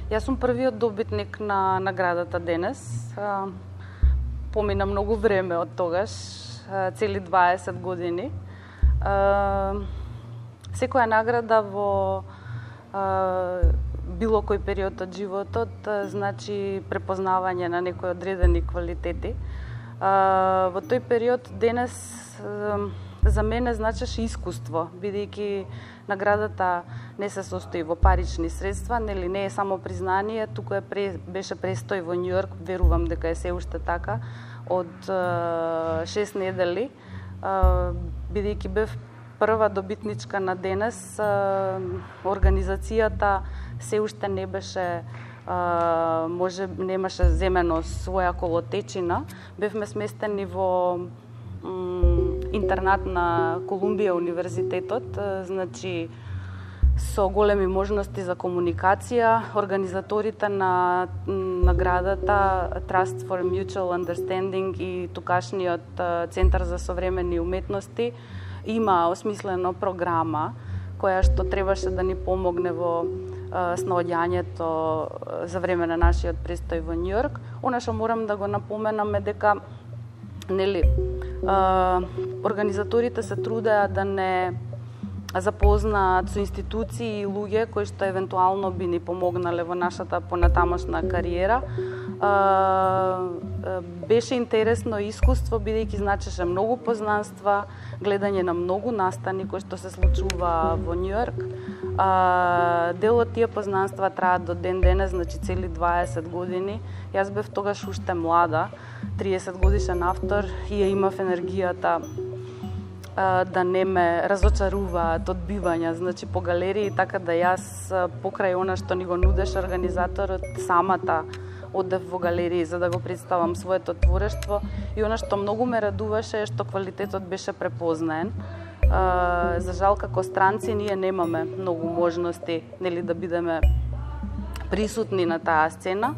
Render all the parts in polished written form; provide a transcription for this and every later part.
Јас сум првиот добитник на наградата денес. Помина многу време од тогаш, цели 20 години. Секоја награда во било кој период од животот значи препознавање на некои одредени квалитети. Во тој период денес за мене значеше искуство, бидејќи наградата не се состои во парични средства, нели не е само признание, туку беше престој во Њу Јорк, верувам дека е се уште така, од 6 недели, бидејќи бев прва добитничка на денес, организацијата се уште не беше немаше земено своја колотечина. Бевме сместени во интернат на Колумбија универзитетот, значи со големи можности за комуникација. Организаторите на наградата Trust for Mutual Understanding и тукашниот Центар за современи уметности има осмислено програма која што требаше да ни помогне во снаоѓањето за време на нашиот престој во Њу Јорк. Она што морам да го напоменам е дека организаторите се трудеа да не запознаат со институции и луѓе кои што евентуално би ни помогнале во нашата понатамошна кариера. Беше интересно искуство, бидејќи значеше многу познанства, гледање на многу настани кои што се случува во Њу Јорк. Дел од тие познанства траат до ден денес, значи цели 20 години. Јас бев тогаш уште млада, 30 годишен автор, и ја имав енергијата да не ме разочаруваат одбивања, значи по галерии, така да јас покрај она што ни го нудеше организаторот, самата одев во галерии за да го представам своето творештво, и она што многу ме радуваше е што квалитетот беше препознаен. За жал, како странци, ние немаме многу можности, нели, да бидеме присутни на таа сцена,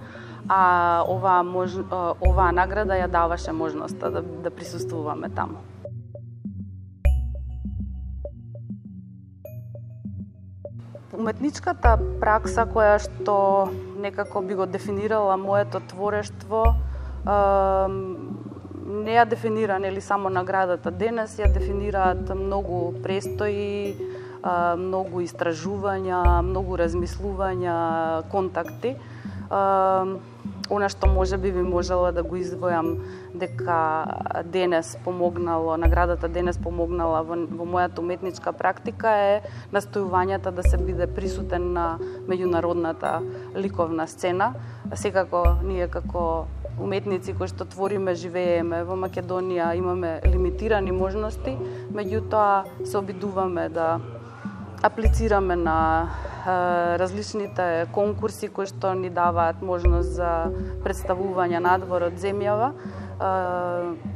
а оваа награда ја даваше можноста да присуствуваме таму. Уметничката пракса која што некако би го дефинирала моето творештво, не ја дефинира нели само наградата денес, ја дефинираат многу престои, многу истражувања, многу размислувања, контакти. Она што можеби би можела да го издвојам дека денес помогнало, наградата денес помогнала во мојата уметничка практика е настојувањата да се биде присутен на меѓународната ликовна сцена. Секако ние како уметници кои што твориме, живееме во Македонија, имаме лимитирани можности, меѓутоа се обидуваме да аплицираме на различните конкурси кои што ни даваат можност за представување надвор од земјава.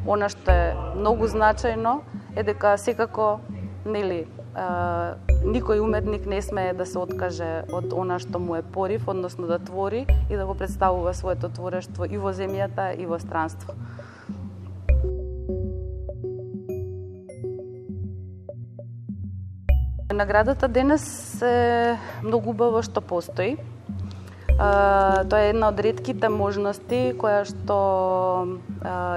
Она што е многу значајно е дека секако никој уметник не смее да се откаже од она што му е порив, односно да твори и да го представува своето творештво и во земјата и во странство. Наградата денес е многу убаво што постои. Тоа е една од ретките можности која што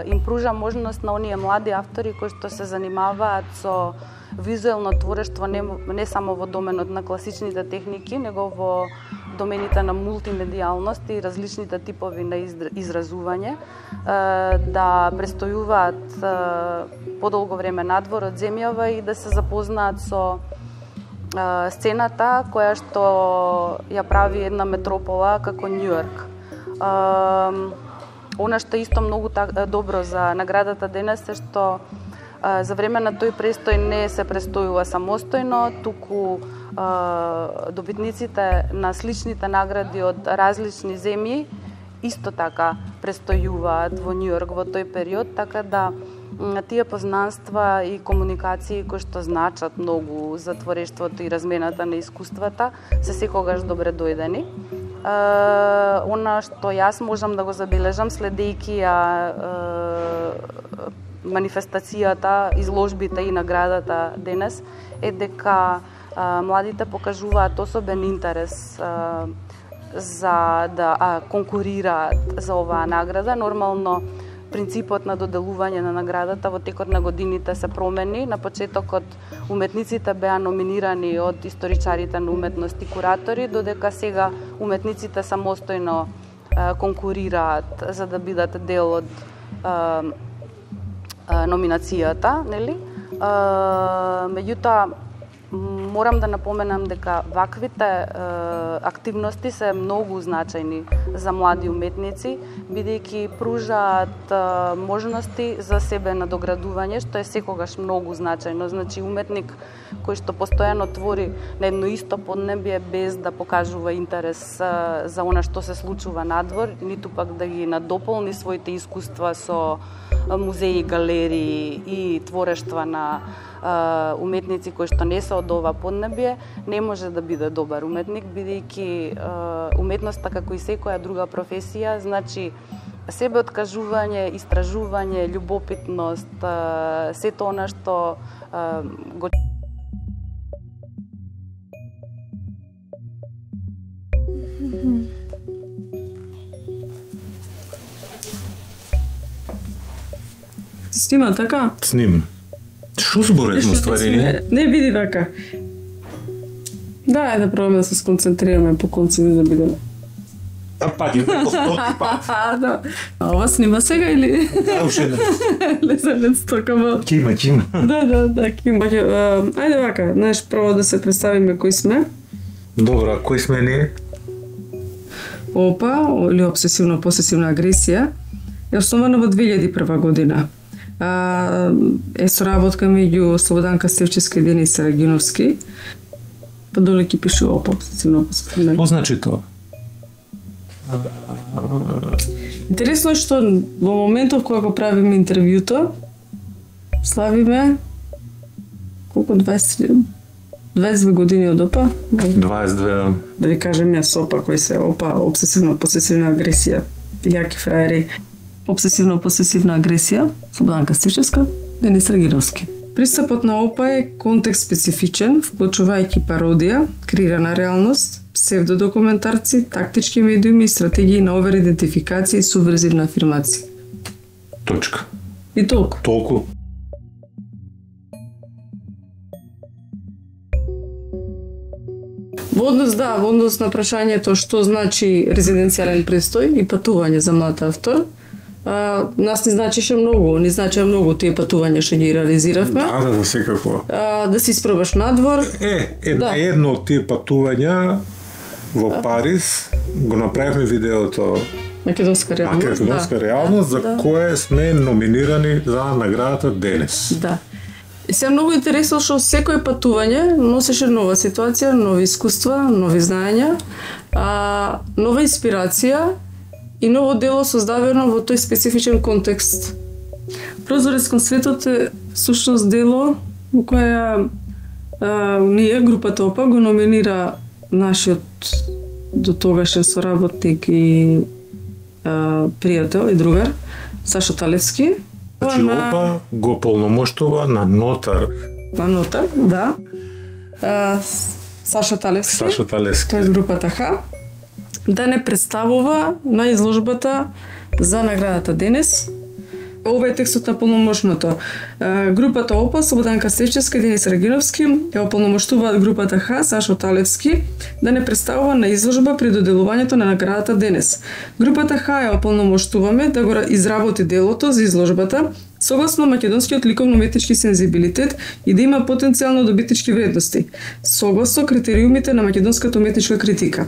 им пружа можност на оние млади автори кои што се занимаваат со визуелно творештво не само во доменот на класичните техники, него во домените на мултимедијалност и различните типови на изразување, да престојуваат подолго време надвор од земјава и да се запознаат со сцената која што ја прави една метропола како Њу Јорк. Она што исто многу добро за наградата денес е што за време на тој престој не се престојува самостојно, туку добитниците на сличните награди од различни земји исто така престојуваат во Њу Јорк во тој период, така да тие познанства и комуникации кои што значат многу за творештвото и размената на искуствата се секогаш добре дојдени. Она што јас можам да го забележам следејќи ја манифестацијата, изложбите и наградата денес е дека младите покажуваат особен интерес за да конкурираат за оваа награда. Нормално принципот на доделување на наградата во текот на годините се промени. На почетокот уметниците беа номинирани од историчарите на уметност и куратори, додека сега уметниците самостојно конкурираат за да бидат дел од номинацијата, нели? Меѓутоа, морам да напоменам дека ваквите активности се многу значајни за млади уметници, бидејќи пружаат можности за себе надоградување, што е секогаш многу значајно. Значи, уметник кој што постојано твори на едно исто поднебје без да покажува интерес за она што се случува надвор, ниту пак да ги надополни своите искуства со музеи, галерии и творештва на уметници кои што не се од ова поднебје, не може да биде добар уметник, бидејќи уметноста, како и секоја друга професија, значи себе откажување, истражување, љубопитност, сето она што го Снима, така? Снима. Што зборуваме ствари? Не биди така. Да, да пробаме да се сконцентрираме по конците да бидеме. Паѓи по 100 пат. Да. А ова снима сега или? Да, уште не. Лезанец токамо. Кима. Да, кима. Ајде вака, знаеш, прво да се представиме кои сме. Добро, кои сме ние? ОПА, или обсесивно-посесивна агресија, е основана во 2001 година. Е соработка меѓу Слободанка Стевчевска и Денис Рагиновски. Па доле ќе пише ОПА, обсесивно-посесивна. Што значи тоа? Интересно е што во моментов кога го правиме интервјуто, славиме колку 22 години од ОПА? 22. Да ви кажем јас ОПА, кој се ОПА, обсесивно-посесивна агресија, јаки фраери. Обсесивно-посесивна агресија, Слободанка Стевчевска, Денис Рагиновски. Пристапот на ОПА е контекст специфичен, вклучувајќи пародија, креирана реалност, псевдодокументарци, тактички медиуми и стратегии на оверидентификација и субверзивна афирмација. Точка. И толку. Толку. Во однос на прашањето што значи резиденцијален престој и патување за млад автор, нас ни значеше многу, тие патувања што ги реализиравме. Да, секако. Да си испробаш надвор. Едно од тие патувања во Париз го направивме видеото Македонска реалност, за кое сме номинирани за наградата денес. Да. И се многу интересно што секој патување носеше нова ситуација, нови искуства, нови знаења, нова инспирација и ново дело создадено во тој специфичен контекст. Прозорец кон светот е сушност дело во која ние, групата ОПА, го номинира нашиот до тогашен соработник и пријател и другар Сашо Талевски. Значи ОПА го полномоштува на нотар. На нотар, да. Сашо Талевски. Тој е групата Х. Да не представува на изложбата за наградата денес. Ова е текстот на полномошното. Групата ОПА, Слободанка Стевчевска и Денис Рагиновски ја ополномоштуваат групата Х, Сашо Талевски, да не представува на изложба при доделувањето на наградата денес. Групата Х ја ополномоштуваме да го изработи делото за изложбата согласно македонскиот ликовно-уметнички сензибилитет и да има потенцијално добитнички вредности, согласно критериумите на македонската уметничка критика.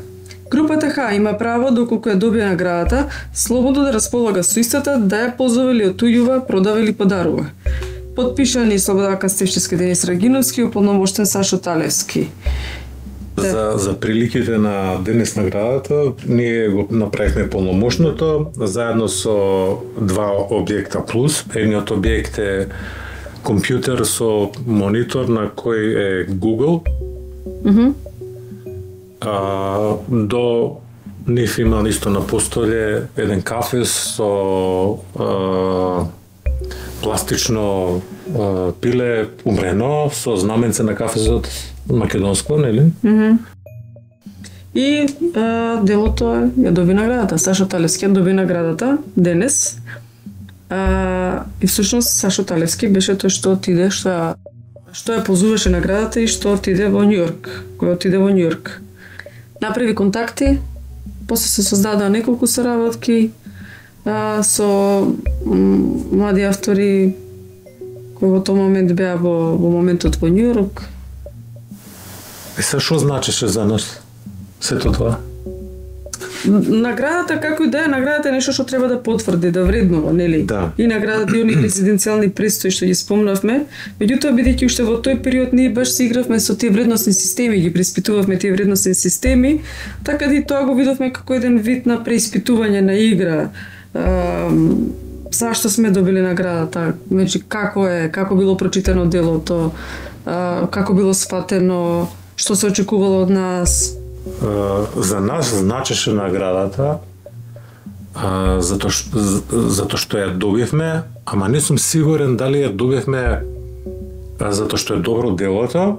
Групата Х има право, доколку ја добие наградата, слободно да располага со истата, да ја ползува или отуѓува, продава или подарува. Подпишани Слободанка Стевчевска, Денис Рагиновски и ополномоштен Сашо Талевски. За приликите на денес наградата, ние го направивме полномошното заедно со два објекта плюс. Едниот објект е компјутер со монитор на кој е Google. До нив има исто на постоле еден кафе со пластично пиле умрено со знаменце на кафезот македонско, нели? И делото ја доби наградата. Сашо Талевски ја доби наградата денес. И всушност Сашо Талевски беше тој што отиде, што ја позуваше наградата и што отиде во Њујорк. Кој отиде во Њујорк. Направи контакти, после се создадоа неколку соработки со млади автори кои во тој момент беа во моментот во Њујорк. И се што значеше за нас сето тоа? Наградата, како и да е, наградата е нешто што треба да потврди, да вреднува, нели? Да. И наградата и оние резиденцијални престои што ги спомнавме, меѓутоа бидејќи уште во тој период ние баш се игравме со тие вредносни системи, ги преиспитувавме тие вредносни системи, така да и тоа го видовме како еден вид на преиспитување на игра. Зашто сме добили наградата, значи како било прочитано делото, како било сфатено, што се очекувало од нас. За нас значеше наградата затоа што ја добивме, ама не сум сигурен дали ја добивме затоа што е добро делото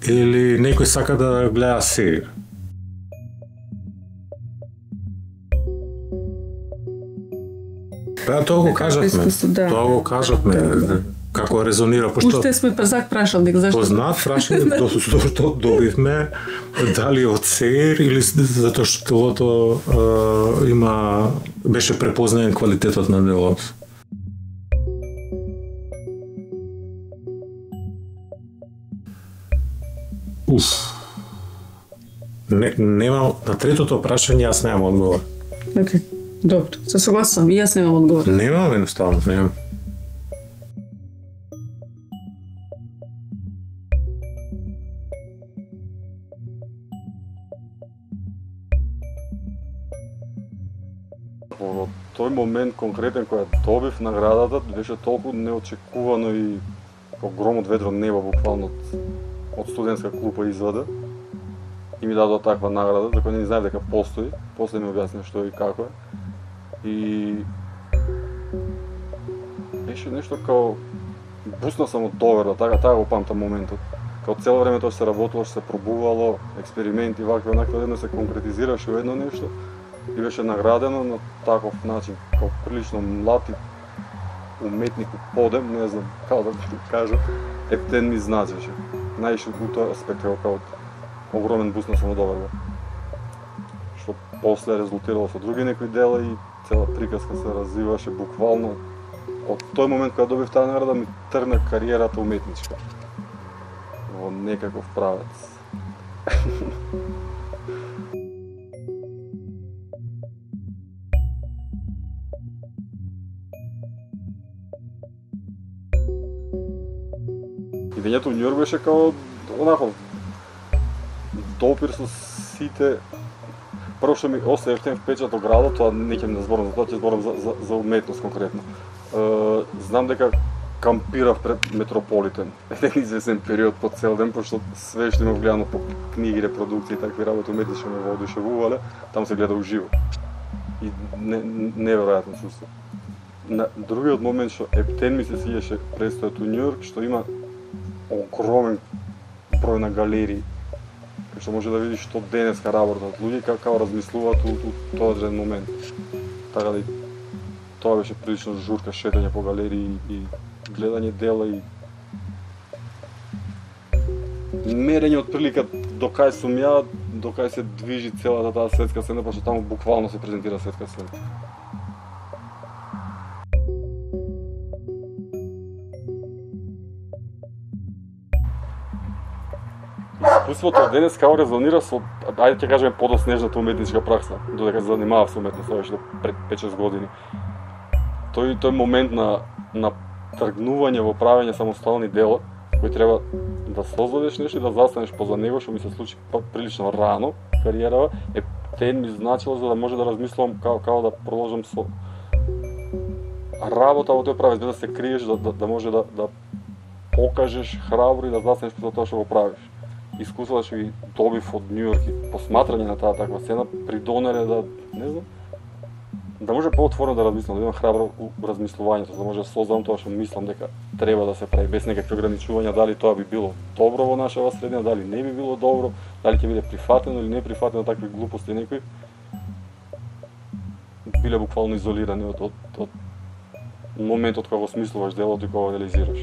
или некој сака да гледа серија. Тоа го кажавме. Тоа го кажавме. Како резонира, пошто уште сме прашални, зашто? Познат прашални, што добивме, дали од СЕР или затоа што беше препознаен квалитетот на делото. Немам, на третото прашање јас немам одговор. Океј, добро, се согласувам, и јас немам одговор. Немам, едноставно, немам. Во тој момент конкретен која добив наградата беше толку неочекувано и како гром од ведро небо буквално од студентска клупа извада и ми дадоа таква награда за која не знаев дека постои, после ми објасни што и како е. И беше нешто као бусна само доверба, така го памтам моментот. Као цело време тоа се работело, се пробувало, експерименти, вакви, онакви, едно се конкретизираше во едно нешто и беше наградено на таков начин, као прилично млад и уметник у подем, не знам како да го кажам, Ептен ми значеше. Најше у тој аспект као огромен буст на самодоверба. Што после резултирало со други некои дела и цела приказка се развиваше буквално. Од тој момент кога добив таа награда ми тргна кариерата уметничка во некаков правец. Идењето во Њујорк беше као онако допир со сите. Прво што ми остави ефтен впечат од градот, тоа не ќе да зборам за тоа, ќе зборам за уметност конкретно. Знам дека кампирав пред Метрополитен еден известен период по цел ден, пошто све што имав гледано по книги, репродукции и такви работи уметнички ме воодушевувале, таму се гледа уживо. И неверојатно чувство. На другиот момент што Ептен ми се свиеше престојот у Њујорк, што има огромен број на галерии, што може да видиш што денеска работат луѓе како размислуваат у тој одреден момент. Така да тоа беше прилично журка, шетање по галерии и гледање дела и мерење од прилика до кај сум ја, до кај се движи целата таа светска сцена, пошто таму буквално се презентира светска сцена. Искуството денес како резонира со, ајде ќе кажеме, подоснежната уметничка пракса, додека се занимавав со уметност уште пред 5-6 години. Тој момент на тргнување во правење самостојни дела, кој треба да создадеш нешто и да застанеш поза него, што ми се случи прилично рано кариерава, Ептен ми значило за да може да размислувам како да продолжам со работа во тој правец, без да се криеш, да може да покажеш храбро и да застанеш поза тоа што го правиш. Искуството што ги добив од Њујорк и посматрање на таа таква сцена придонеле да, не знам, да може поотворено да размислам, да имам храбро размислувањето, да може да создам тоа што мислам дека треба да се прави без некакви ограничувања, дали тоа би било добро во нашава средина, дали не би било добро, дали ќе биде прифатено или не прифатено такви глупости некои. Биле буквално изолирани од моментот кога го смислуваш делото и кога го реализираш.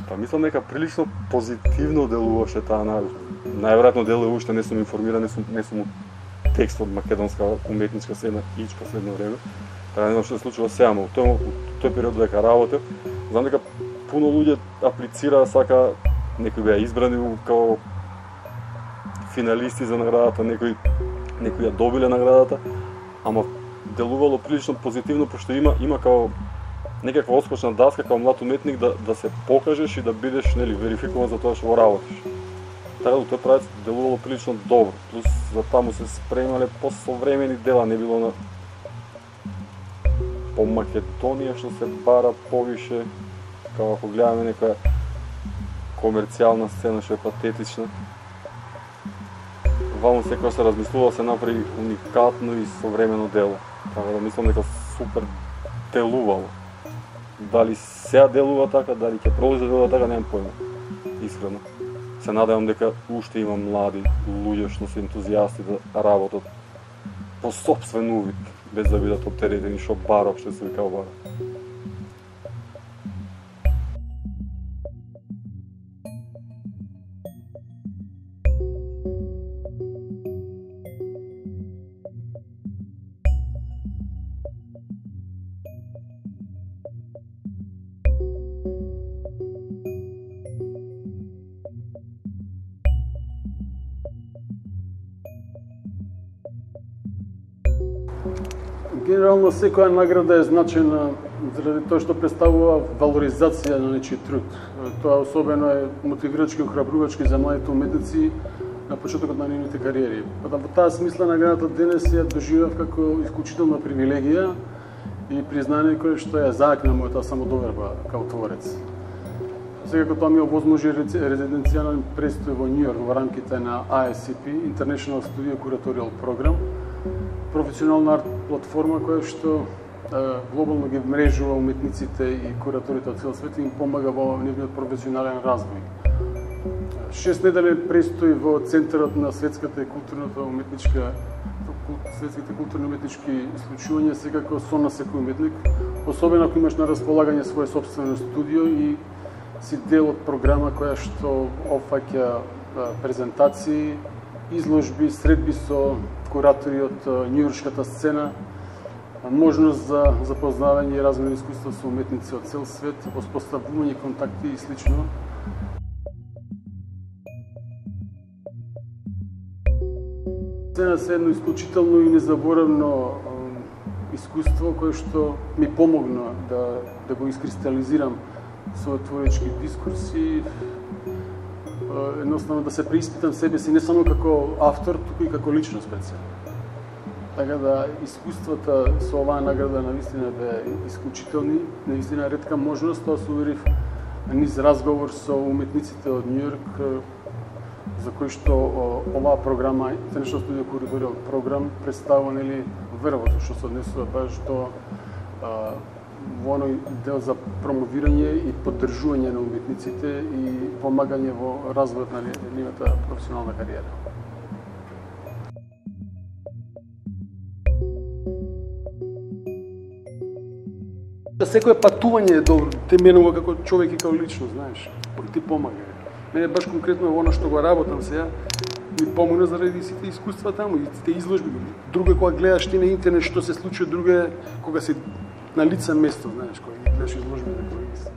Па мислам дека прилично позитивно делуваше таа најавка. Најверојатно делува уште, не сум информиран, не сум текст од македонска уметничка сцена ич последно време. Така не знам што се случува сега, но тој период дека работев, знам дека пуно луѓе аплицираа, сака, некои беа избрани како финалисти за наградата, некои ја добиле наградата, ама делувало прилично позитивно, пошто има како некаква отскочна даска како млад уметник да се покажеш и да бидеш верификуван за тоа што го работиш. Така да тој правец делувало прилично добро. Плюс за таму се спремале посовремени дела, не било на по Македонија што се бара повише, како ако гледаме некоја комерцијална сцена што е патетична. Ваму секој се размислува се направи уникатно и современо дело. Така да мислам дека супер делувало. Дали сега делува така, дали ќе продолжи да делува така, немам појма. Искрено. Се надевам дека уште има млади луѓе што се ентузијасти да работат по сопствен увид, без да бидат оптеретени што баров што се викао бара. Генерално секоја награда е значајна заради тоа што представува валоризација на нечиј труд. Тоа особено е мотивирачки и охрабрувачки за младите уметници на почетокот на нивните кариери. Во таа смисла наградата денес ја доживав како исклучителна привилегија и признание кое што ја заакна мојата самодоверба како творец. Секако тоа ми овозможи резиденцијален престој во Њујорк во рамките на ISCP, International Studio Curatorial Program, професионална арт платформа која што глобално ги мрежува уметниците и кураторите од цел свет и им помага во нивниот професионален развој. 6 недели престои во центарот на светските културно-уметнички случувања секако сон на секој уметник, особено ако имаш на располагање свое собствено студио и си дел од програма која што опфаќа презентации, изложби, средби со куратори од њујоршката сцена, можност за запознавање и размена искуства со уметници од цел свет, воспоставување контакти и слично. Сцена се едно исклучително и незаборавно искуство кое што ми помогна да го искристализирам својот творечки дискурси, едноставно да се преиспитам себе си не само како автор, туку и како личност пред себе. Така да искуствата со оваа награда навистина беа исклучителни, навистина ретка можност, тоа се уверив низ разговор со уметниците од Њујорк, за кои што оваа програма, International Studio Curatorial Program, представува вербото што се однесува баш до во оној дел за промовирање и поддржување на уметниците и помагање во развојот на нивната професионална кариера. Секое патување е добро, те менува како човек и како личност, знаеш, ти помага. Мене баш конкретно во она што го работам сега, ми помогна заради сите искуства таму и сите изложби. Друго е кога гледаш ти на интернет што се случува, друго е кога си на лице место, знаеш, кога ги гледаш изложби на колеги си.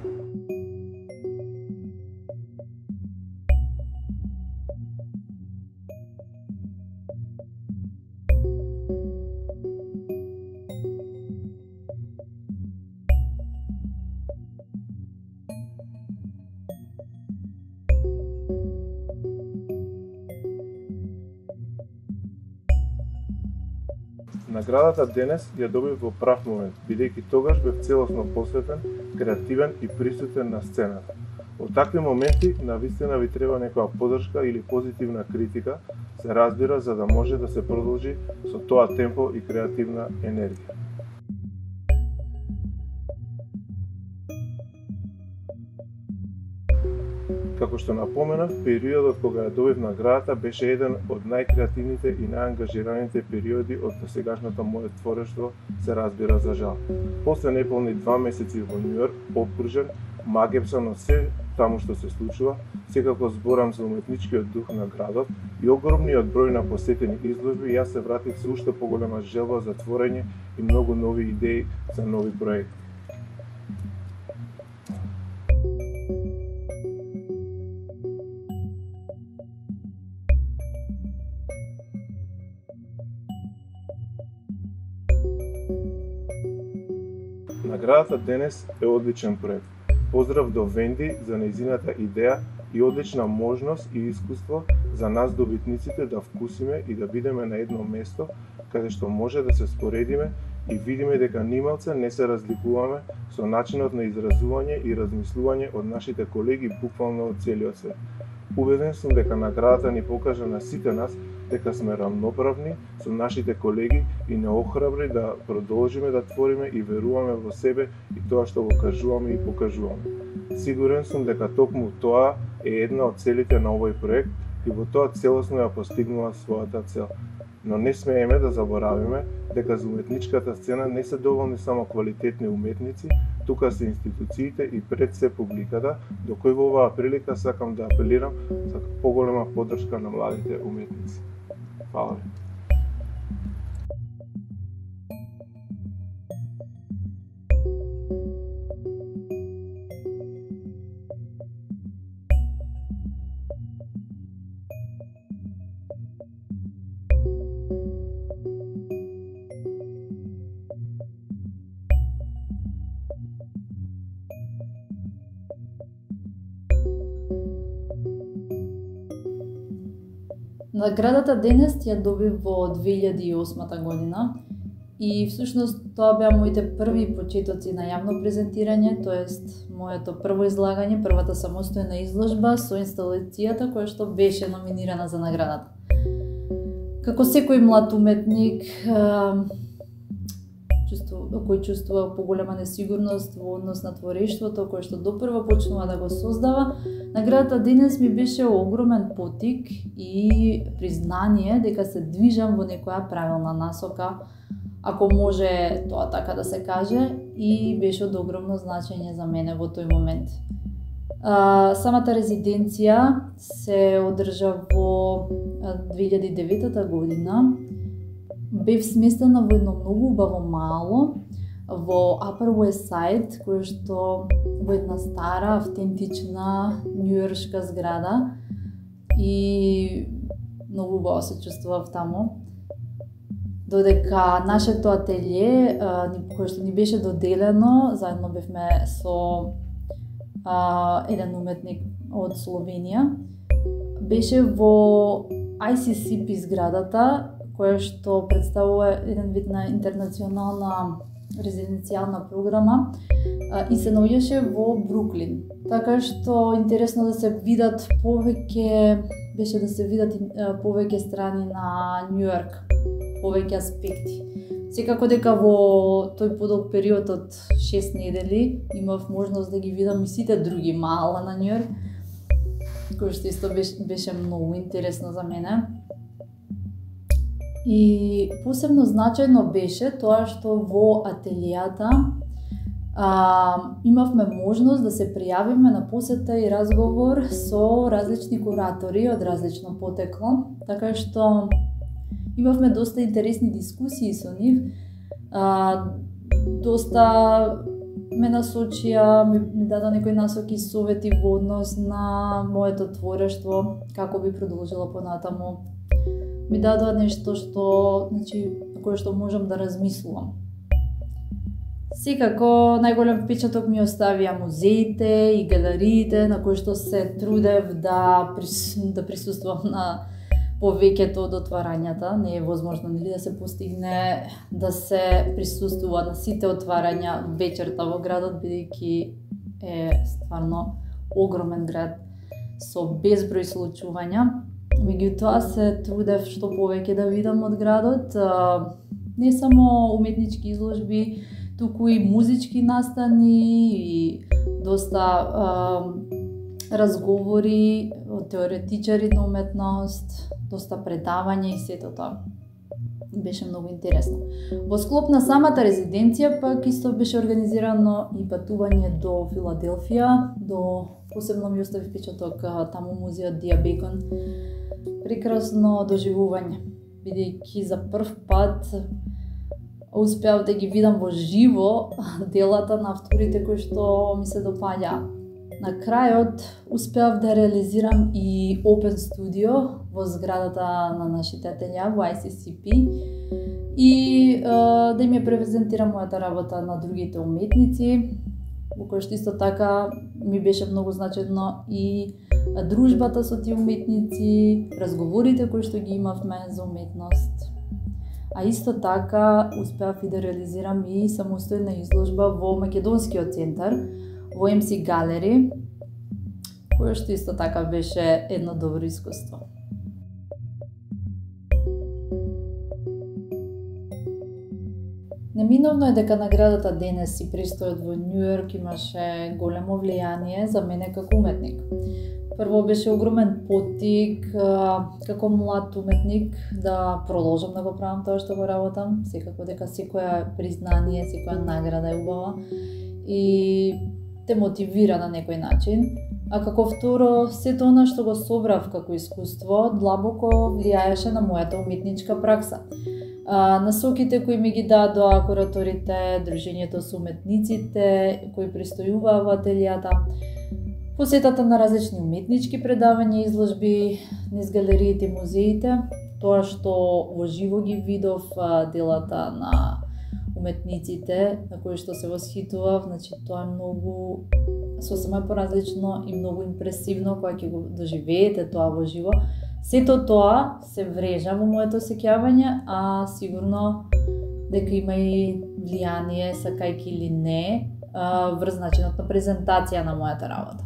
Наградата денес ја добив во прав момент, бидејќи тогаш бев целосно посветен, креативен и присутен на сцената. Во такви моменти навистина ви треба некоја поддршка или позитивна критика, се разбира, за да може да се продолжи со тоа темпо и креативна енергија. Како што напоменав, периодот кога ја добив наградата беше еден од најкреативните и најангажираните периоди од досегашното моје творештво, се разбира, за жал. После неполни 2 месеци во Њу Јорк, обкружен, магепсан од се таму што се случува, секако зборам за уметничкиот дух на градот и огромниот број на посетени изложби, јас се вратив со уште поголема желба за творење и многу нови идеи за нови проекти. Наградата денес е одличен проект. Поздрав до Венди за нејзината идеја и одлична можност и искуство за нас добитниците да вкусиме и да бидеме на едно место каде што може да се споредиме и видиме дека нималце не се разликуваме со начинот на изразување и размислување од нашите колеги буквално од целиот свет. Убеден сум дека наградата ни покажа на сите нас дека сме рамноправни со нашите колеги и не охрабри да продолжиме да твориме и веруваме во себе и тоа што го кажуваме и покажуваме. Сигурен сум дека токму тоа е една од целите на овој проект и во тоа целосно ја постигнува својата цел. Но не смееме да заборавиме дека за уметничката сцена не се доволни само квалитетни уметници, тука се институциите и пред се публиката, до кој во оваа прилика сакам да апелирам за поголема поддршка на младите уметници. Фала ви. Наградата денес ја добив во 2008 година и всушност тоа беа моите први почетоци на јавно презентирање, тоест моето прво излагање, првата самостојна изложба со инсталацијата која што беше номинирана за наградата. Како секој млад уметник кој чувствува поголема несигурност во однос на творештвото кој што допрва почнува да го создава, наградата денес ми беше огромен поттик и признание дека се движам во некоја правилна насока, ако може тоа така да се каже, и беше од огромно значење за мене во тој момент. Самата резиденција се одржа во 2009 година. Бев сместена во едно многу убаво мало во Upper West Side, кој што во една стара, автентична њујоршка зграда и многу убаво се чувствував таму. Додека нашето ателје, кое што ни беше доделено, заедно бевме со еден уметник од Словенија, беше во ICCP зградата, која што представува еден вид на интернационална резиденцијална програма и се наоѓаше во Бруклин. Така што интересно да се видат повеќе, беше да се видат повеќе страни на Њу Јорк, повеќе аспекти. Секако дека во тој подолг период од 6 недели имав можност да ги видам и сите други мала на Њу Јорк, кој што исто беше многу интересно за мене. И посебно значајно беше тоа што во ателијата имавме можност да се пријавиме на посета и разговор со различни куратори од различно потекло, така што имавме доста интересни дискусии со нив. Доста ме насочија, ми даде некои насоки и совети во однос на моето творештво, како би продолжила понатаму. Ми дадоа нешто што, кое што можам да размислувам. Секако најголем впечаток ми оставија музеите и галериите на кои што се трудев да присуствувам на повеќето од отварањата. Не е возможно нели да се постигне да се присуствува на сите отварања вечерта во градот, бидејќи е стварно огромен град со безброј случувања. Меѓутоа се трудев што повеќе да видам од градот, не само уметнички изложби, туку и музички настани и доста разговори од теоретичари на уметност, доста предавања и сето тоа. Беше многу интересно. Во склоп на самата резиденција пак исто беше организирано и патување до Филаделфија, посебно ми остави впечаток таму музеот Дија Бекон. Прекрасно доживување, бидејќи за прв пат успеав да ги видам во живо делата на авторите кои што ми се допаѓа. На крајот успеав да реализирам и Open Studio во зградата на нашите ателија во ICCP и да им ја препрезентирам мојата работа на другите уметници, во кој што исто така ми беше многу значено и дружбата со тие уметници, разговорите кои што ги имавме за уметност. А исто така успеав и да реализирам и самостојна изложба во Македонскиот центар, во MC Gallery, кој што исто така беше едно добро искуство. Неминовно е дека наградата денес и престојот во Њу Йорк имаше големо влијание за мене како уметник. Прво беше огромен поттик како млад уметник да продолжам да го правам тоа што го работам, секако дека секоја признание, секоја награда е убава и те мотивира на некој начин. А како второ, сето она што го собрав како искуство длабоко влијаеше на мојата уметничка пракса. Насоките кои ми ги дадоа кураторите, дружењето со уметниците кои престојуваа во ателијата, посетата на различни уметнички предавања и изложби низ галериите и музеите, тоа што во живо ги видов делата на уметниците на кои што се восхитував, значи тоа е многу сосема поразлично и многу импресивно кога ќе го доживеете тоа во живо. Сето тоа се врежа во моето сеќавање, а сигурно дека има и влијание, сакајки или не, врз начинот на презентација на мојата работа.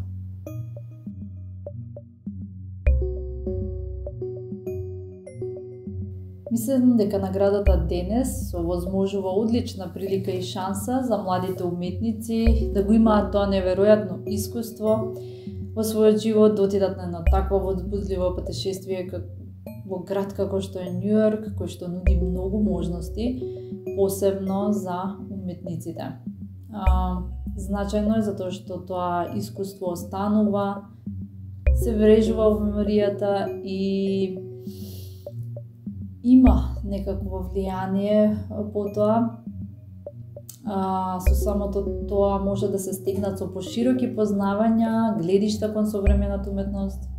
Мислам дека наградата денес овозможува одлична прилика и шанса за младите уметници да го имаат тоа неверојатно искуство во својот живот, да отидат на едно такво возбудливо патешествие во град како што е Њу Йорк, кој што нуди многу можности, посебно за уметниците. Значајно е затоа што тоа искуство останува, се врежува во меморијата и има некакво влијание по тоа. Со самото тоа може да се стигнат со пошироки познавања, гледишта кон современата уметност,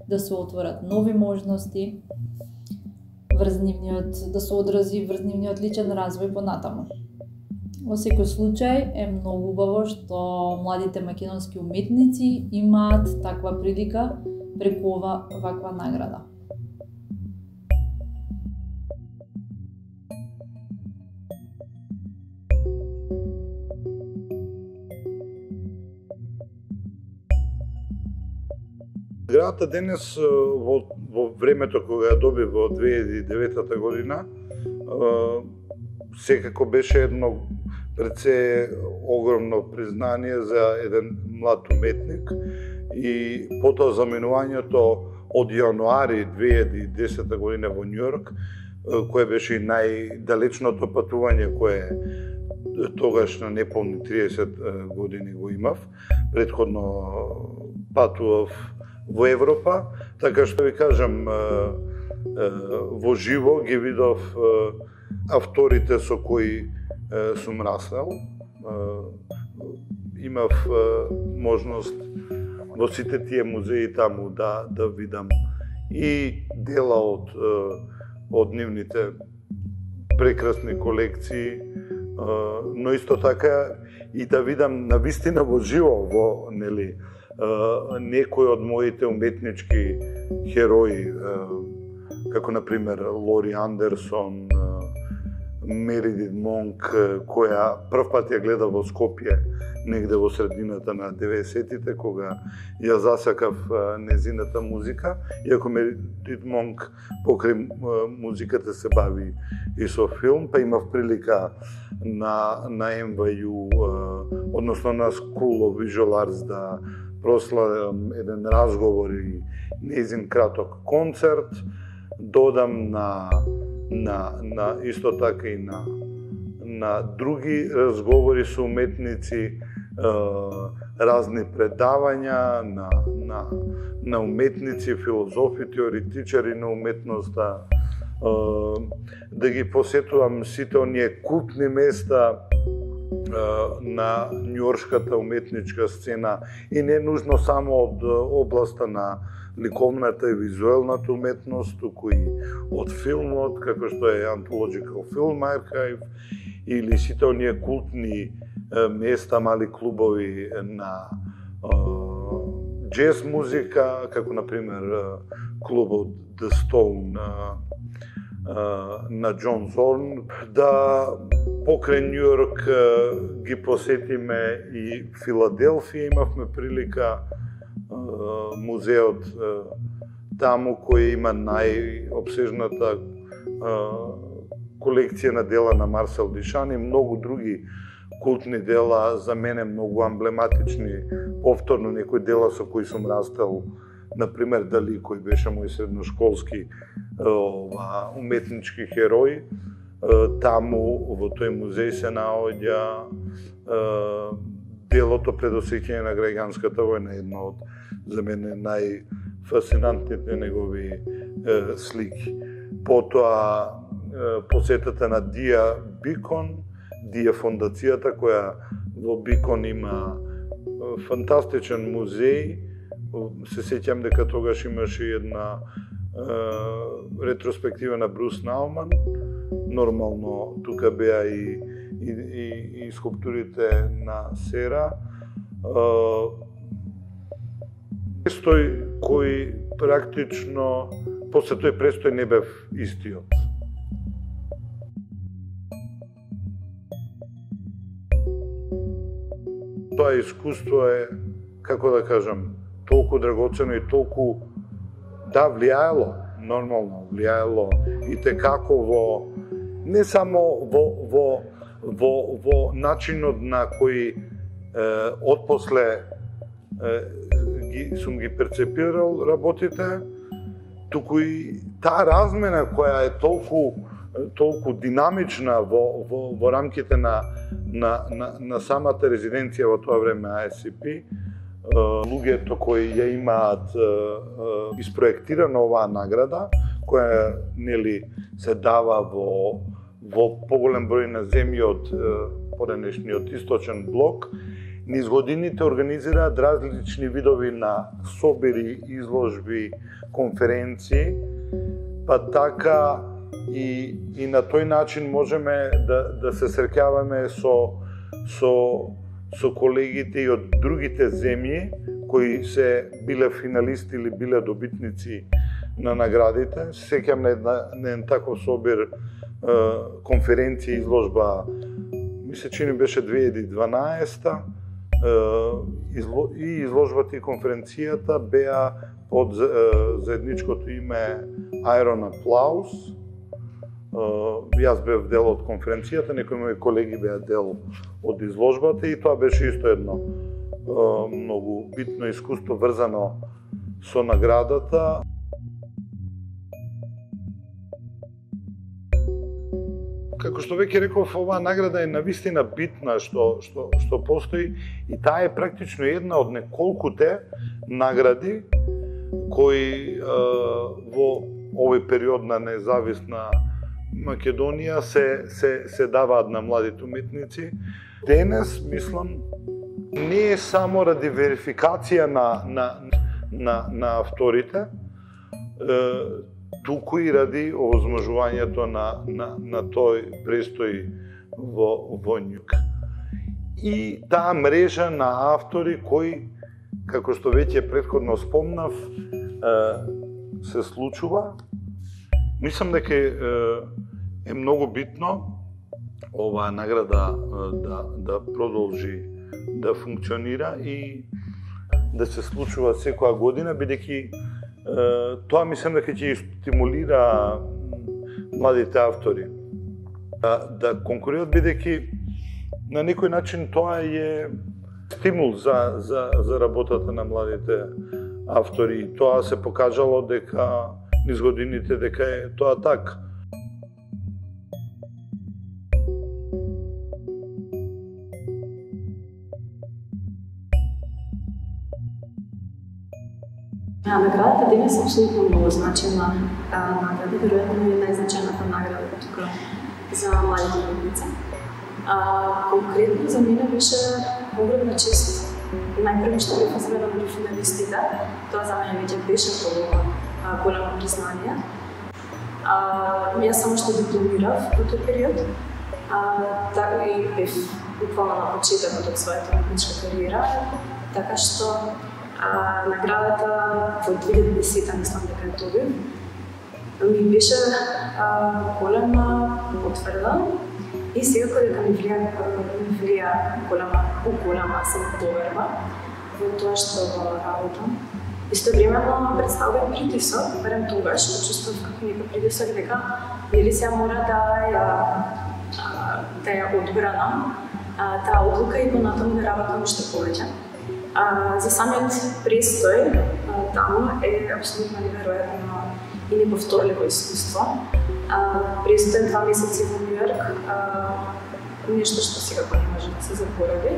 да се отворат нови можности, да се одрази врз нивниот личен развој понатаму. Во секој случај е многу убаво што младите македонски уметници имаат таква прилика преку ваква награда. Наградата денес во времето кога ја доби во 2009 година секако беше едно пред се огромно признание за еден млад уметник и потоа заменувањето од јануари 2010 година во Њу Йорк, кое беше и најдалечното патување кое тогаш на неполни 30 години го имав. Претходно патував во Европа, така што ви кажам, во живо ги видов авторите со кои сум раснал. Имав можност во сите тие музеи таму да видам и дела од нивните прекрасни колекции, но исто така и да видам навистина во живо во некои од моите уметнички херои, како например Лори Андерсон, Мередит Монк, која прв пат ја гледа во Скопје, негде во средината на 90-тите, кога ја засакав незината музика, иако Мередит Монк покрај музиката се бави и со филм, па имав прилика на NYU, односно на School of Visual Arts да прославам еден разговор и незин краток концерт, додам на исто така и на други разговори со уметници, разни предавања на уметници, филозофи, теоретичари на уметноста, да ги посетувам сите оние култни места на њујоршката уметничка сцена и не нужно само од областа на ликовната и визуелната уметност, туку и од филмот, како што е Anthological Film Archive, или сите оние култни места, мали клубови на джез музика, како например клубот The Stone на Џон Зорн, да покрај Њујорк ги посетиме и Филаделфија, имавме прилика, музеот таму кој има најобсежната колекција на дела на Марсел Дишан и многу други култни дела, за мене многу амблематични, повторно некои дела со кои сум растел, например Дали, кој беше мој средношколски уметнички херој. Таму во тој музеј се наоѓа делото предосеќање на граѓанската војна, едно од за мене најфасцинантните негови слики. Потоа посетата на Дија Бикон, Дија фондацијата која во Бикон има фантастичен музеј. Се сеќам дека тогаш имаше една ретроспектива на Брус Науман. Нормално тука беа и скулптурите на Сера. Престој кој практично после тој престој не бев истиот. Тоа искуство е, како да кажам, толку драгоцено и толку влијаело, нормално влијаело и текако во не само во начинот на кој отпосле сум ги перцепирал работите, туку и таа размена која е толку динамична во рамките на самата резиденција во тоа време ASCP, луѓето кои ја имаат испроектирана оваа награда, која нели се дава во поголем број на земји од поранешниот источен блок, низ годините организираат различни видови на собери, изложби, конференции, па така и на тој начин можеме да се среќаваме со колегите и од другите земји кои се биле финалисти или биле добитници на наградите. Сеќам на еден таков собир конференција, изложба, ми се чини беше 2012 и изложбата и конференцијата беа под заедничкото име Iron Applause. Јас бев дел од конференцијата, некои мои колеги беа дел од изложбата и тоа беше исто едно многу битно искуство врзано со наградата. Како што веќе реков, оваа награда е навистина битна што постои и таа е практично една од неколкуте награди кои во овој период на независна Македонија се даваат на младите уметници. Денес, мислам, не е само ради верификација на авторите, туку и ради овозможувањето на тој престој во њук. И таа мрежа на автори кои, како што веќе претходно спомнав, се случува. Мислам дека е многу битно оваа награда да продолжи да функционира и да се случува секоја година, бидејќи тоа мислам дека ќе стимулира младите автори да конкурираат, бидејќи на некој начин тоа е стимул за работата на младите автори. Тоа се покажало дека низ годините дека е тоа така. Наградата денес е апсолутно многу значена награда, веројатно е најзначајната награда тука за младите уметници. Конкретно за мене беше огромна чест. Најпрво што бев избрана меѓу финалистите, тоа за мене веќе беше големо признание. Јас само што дипломирав во тој период, така и бев буквално на почетокот од својата уметничка кариера, така што наградата во 2010 мислам дека е тоа ми беше голема потврда и секако дека ми влија голема самоповерба во тоа што работам. Истовремено представува притисок, барем тогаш почувствував како некој притисок дека нели сега мора да ја одбранам таа одлука и понатаму да работам уште повеќе. За самиот престој таму е апсолутно неверојатно и неповторливо искуство. Престој 2 месеци во Нью Йорк, нешто што секако не може да се заборави.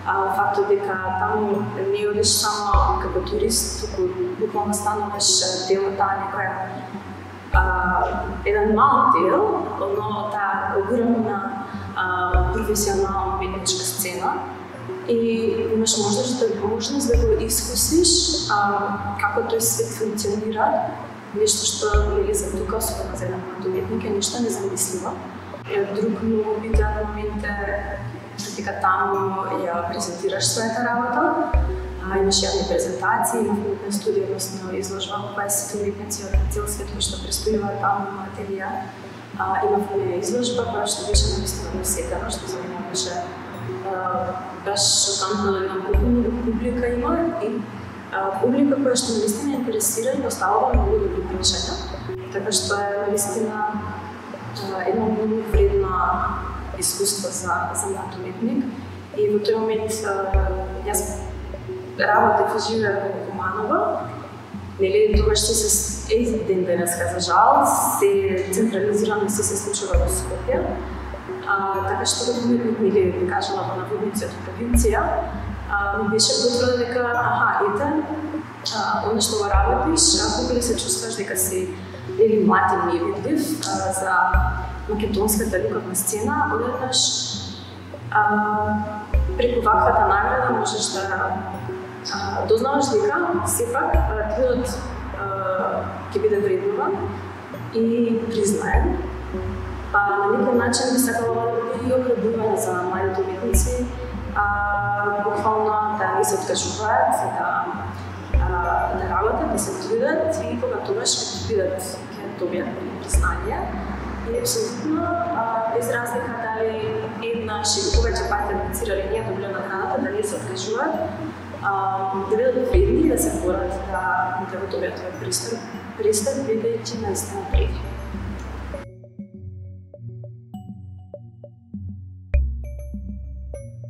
Фактот дека таму не одиш само како турист, туку буквално стануваш дел од таа некоја еден мал дел, но таа огромна професионална уметничка сцена. И имаш можност да го искусиш како тој свет функционира, нешто што нели за тука, особено за еден млад уметник, е нешто незамисливо. Друг многу битен момент е дека таму ја презентираш својата работа, имаш јавни презентации, имав уметна студија, односно изложба во која сите уметници од цел свет кои што престојуваат таму на ателија. Имавме изложба која што беше навистина посетена, што за мене беше баш шокантно да видам публика има и публика која што навистина интересира и поставува многу добри прашања. Така што е навистина едно многу вредно искуство за млад уметник. И во тој момент јас работев и живеев во Куманово. Нели тогаш се ден денеска за жал се централизирано се случува во Скопје. Така што како уметник нели ви кажала во наводници од провинција, ми беше потврда дека ете, оно што го работиш, кога ли се чувстваш дека си нели млад и невидлив за македонската луковна сцена, одеднаш преку ваквата награда можеш да дознаваш дека сепак трудот ќе биде вреднуван и признаен. На некој начин би сакала да биде и охрабрување за младите уметници, буквално да не се откажуваат, да работат, да се трудат и кога тогаш ќе добијат признание. И апсолутно без разлика дали еднаш или повеќе пати аплицирали ние добиле наградата, да не се откажуваат, да бидат вредни и да се борат да го добијат тој пристап, бидејќи наистина вреди.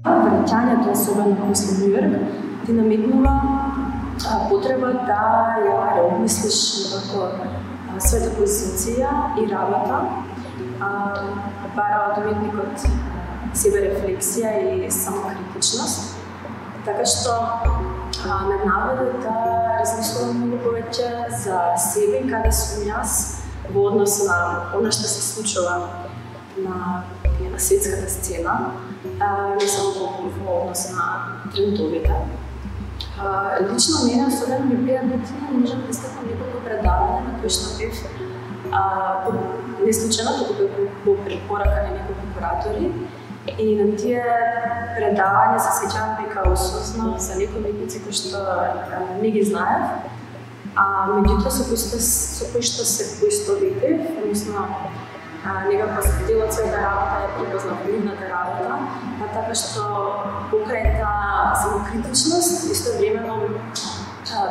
Враќањето, особено после Нью Йорк, ти наметнува потреба да ја реобмислиш својата позиција и работа, бара од уметникот себе рефлексија и самокритичност. Така што ме наведе да размислувам многу повеќе за себе и каде сум јас во однос на она што се случува на светската сцена, не само во однос на трендовите. Лично мене особено ми бија битно, можам да стекам неколку предавања на кои што бев не случајно, туку по препорака на неколку куратори. И на тие предавања се сеќавам дека осознав за некои уметници кои што не ги знаев, меѓутоа со кои што се поистовитив, односно некако дел од својата работа е припознав нивната работа, така што покрај таа самокритичност, истовремено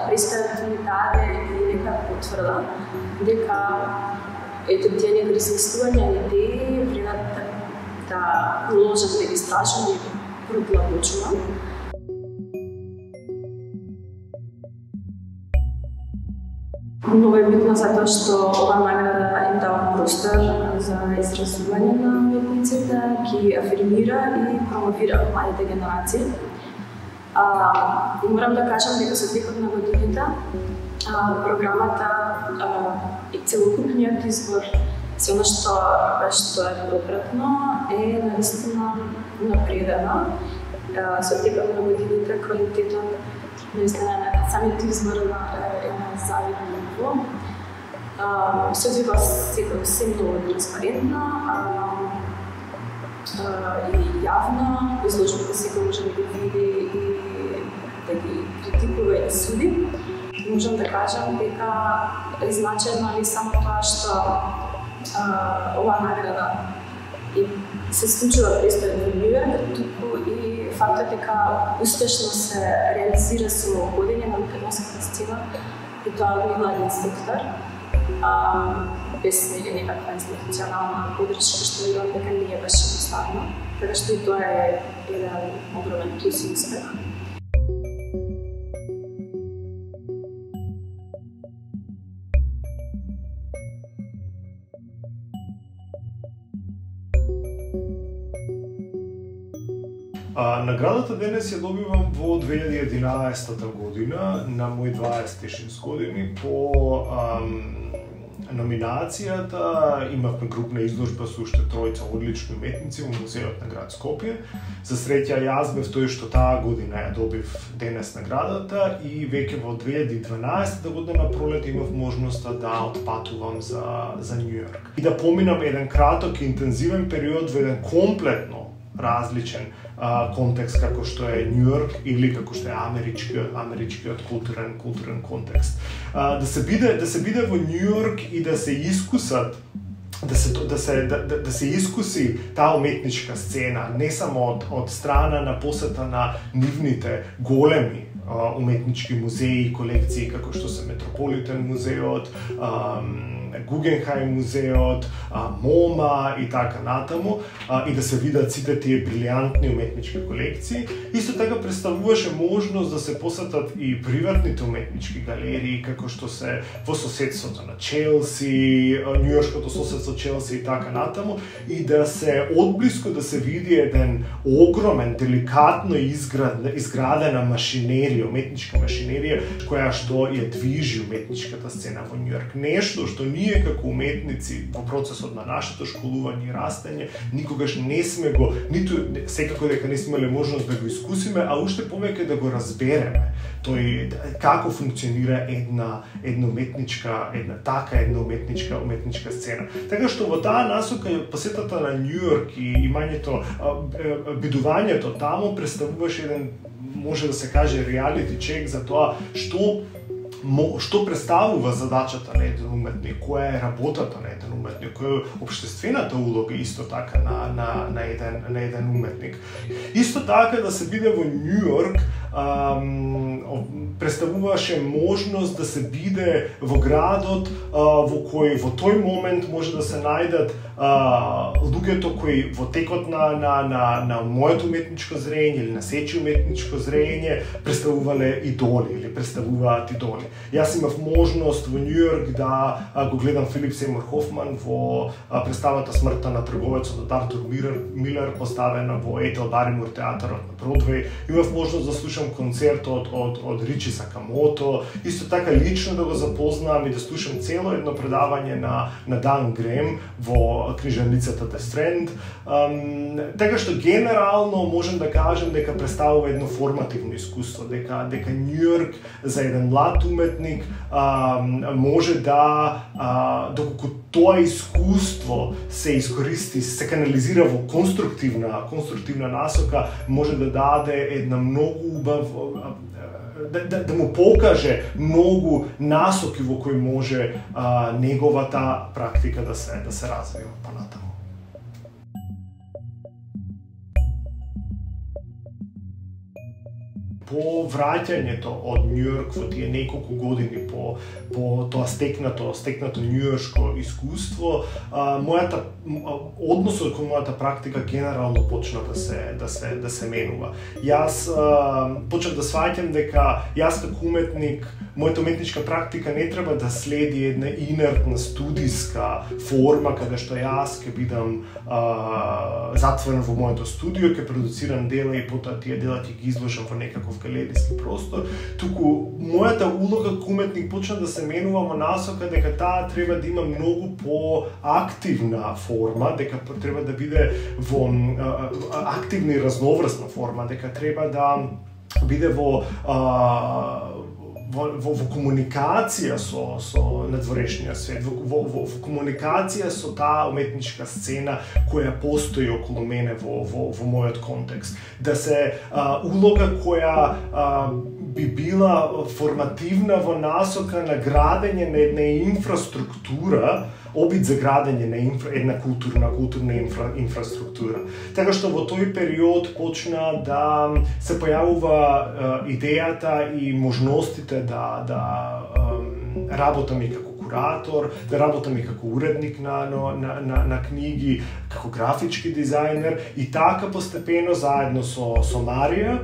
престојот ми даде и нека потврда дека ето тие некои размислувања и идеи вредат да продолжат да ги истражувам и продлабочувам. Многу е битно затоа што ова награда им дава простор за изразување на уметниците, ги афирмира и промовира младите генерации. Морам да кажам дека со текот на годините програмата и целокупниот избор, се она што е попратно, е наистина напредено. Со текот на годините квалитетот наистина на самиот избор е на завидно ниво. Се одвива се многу транспарентно и јавно, изложбата секој може да ги види и да ги критикува и да суди. Можам да кажам дека е значено не само тоа што ова награда се случува престојот во Њујорк, туку и фактот дека успешно се реализира со годење на македонската сцена и тоа во младиот сектор, без некаква институционална подршка, што верувам дека не беше поставено, така што и тоа е еден огромен плюс и успех. Наградата денес ја добивам во 2011 година, на мој 26 години, по номинацијата имавме групна изложба со уште тројца одлични уметници во музеот на град Скопје. За среќа јас бев тој што таа година ја добив денес наградата и веќе во 2012 година на пролет имав можноста да отпатувам за Њујорк и да поминам еден краток и интензивен период во еден комплетно различен контекст како што е Њујорк или како што е америчкиот културен контекст. Да се биде во Њујорк и да се искусат да се искуси таа уметничка сцена, не само од страна на посета на нивните големи уметнички музеи и колекции како што се Метрополитен музеот, Гугенхаим музеот, МоМА и така натаму, и да се видат сите тие брилијантни уметнички колекции. Исто така представуваше можност да се посетат и приватните уметнички галерии, како што се во соседството на Челси, њујоршкото соседство Челси и така натаму, и да се одблиску да се види еден огромен, деликатно изградена машинерија, уметничка машинерија, која што ја движи уметничката сцена во Њујорк. Нешто што ние како уметници во процесот на нашето школување и растење никогаш не сме го, ниту секако дека не сме имале можност да го искусиме, а уште повеќе да го разбереме тој како функционира една уметничка сцена. Така што во таа насока посетата на Њујорк и имањето, бидувањето таму представуваше еден, може да се каже, реалити чек за тоа што представува задачата на еден уметник, која е работата на еден уметник, која е општествената улога исто така на еден уметник. Исто така да се биде во Њујорк представуваше можност да се биде во градот во кој во тој момент може да се најдат луѓето кои во текот на моето уметничко зрење или на сечи уметничко зрење представувале идоли или представуваат идоли. Јас имав можност во Њујорк да го гледам Филип Сеймур Хофман во представата Смртта на трговецот од Артур Милер, поставена во Етел Баримур театарот на Бродвеј. Имав можност да слушам концерт од Ричи Сакамото, исто така лично да го запознам и да слушам цело едно предавање на Дан Грем во книжарницата The Strand. Така што генерално можем да кажем дека представува едно формативно искуство, дека Њујорк за еден млад уметник може да, доколку тоа искуство се искористи, се канализира во конструктивна насока, може да даде една многу убав да му покаже многу насоки во кои може неговата практика да се развива понатаму. По враќањето од Њујорк во тие неколку години по тоа стекнато њујоршко искуство, односот кон мојата практика генерално почна да се менува. Јас почнав да сваќам дека јас како уметник, мојата уметничка практика не треба да следи една инертна студиска форма каде што јас ќе бидам затворен во моето студио, ќе продуцирам дела и потоа тие дела ќе ги изложам во некаков галериски простор, туку мојата улога како уметник почна да се менува во насока дека таа треба да има многу поактивна форма, дека треба да биде во активна и разноврсна форма, дека треба да биде во комуникација со надворешниот свет, во комуникација со таа уметничка сцена која постои околу мене во мојот контекст. Да се улога која би била формативна во насока на градење на една инфраструктура, обид за градење на една културна инфраструктура. Така што во тој период почна да се појавува идејата и можностите да работам и како куратор, да работам и како уредник на книги, како графички дизајнер и така постепено заедно со Марија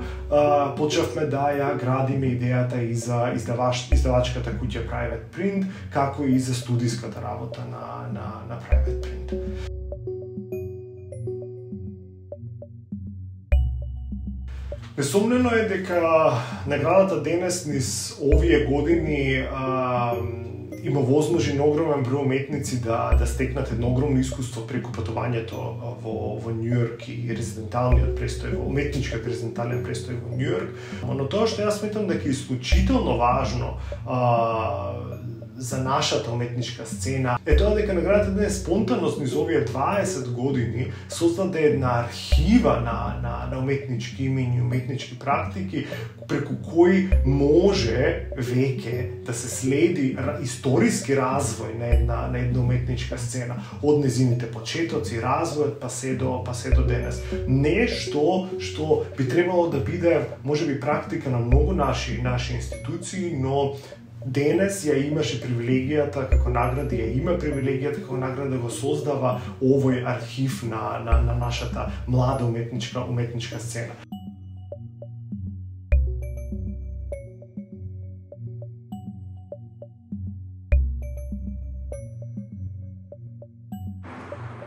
почнавме да ја градиме идејата и за издавачката куќа Private Print, како и за студиската работа на Private Print. Несомнено е дека наградата денес низ овие години има возможи на огромен број уметници да стекнат едно огромно искуство преку патувањето во Њујорк и резиденталниот престој, во уметничкиот резидентален престој во Њујорк. Но тоа што јас сметам дека е исклучително важно за нашата уметничка сцена е тоа дека наградата денес спонтанност низ овие 20 години создаде една архива на уметнички имиња, уметнички практики преку кои може веќе да се следи историски развој на една уметничка сцена од незините почетоци, развојот па се до денес. Нешто што би требало да биде можеби практика на многу наши институции, но денес ја имаше привилегијата како награда, ја има привилегијата како награда да го создава овој архив на нашата млада уметничка сцена.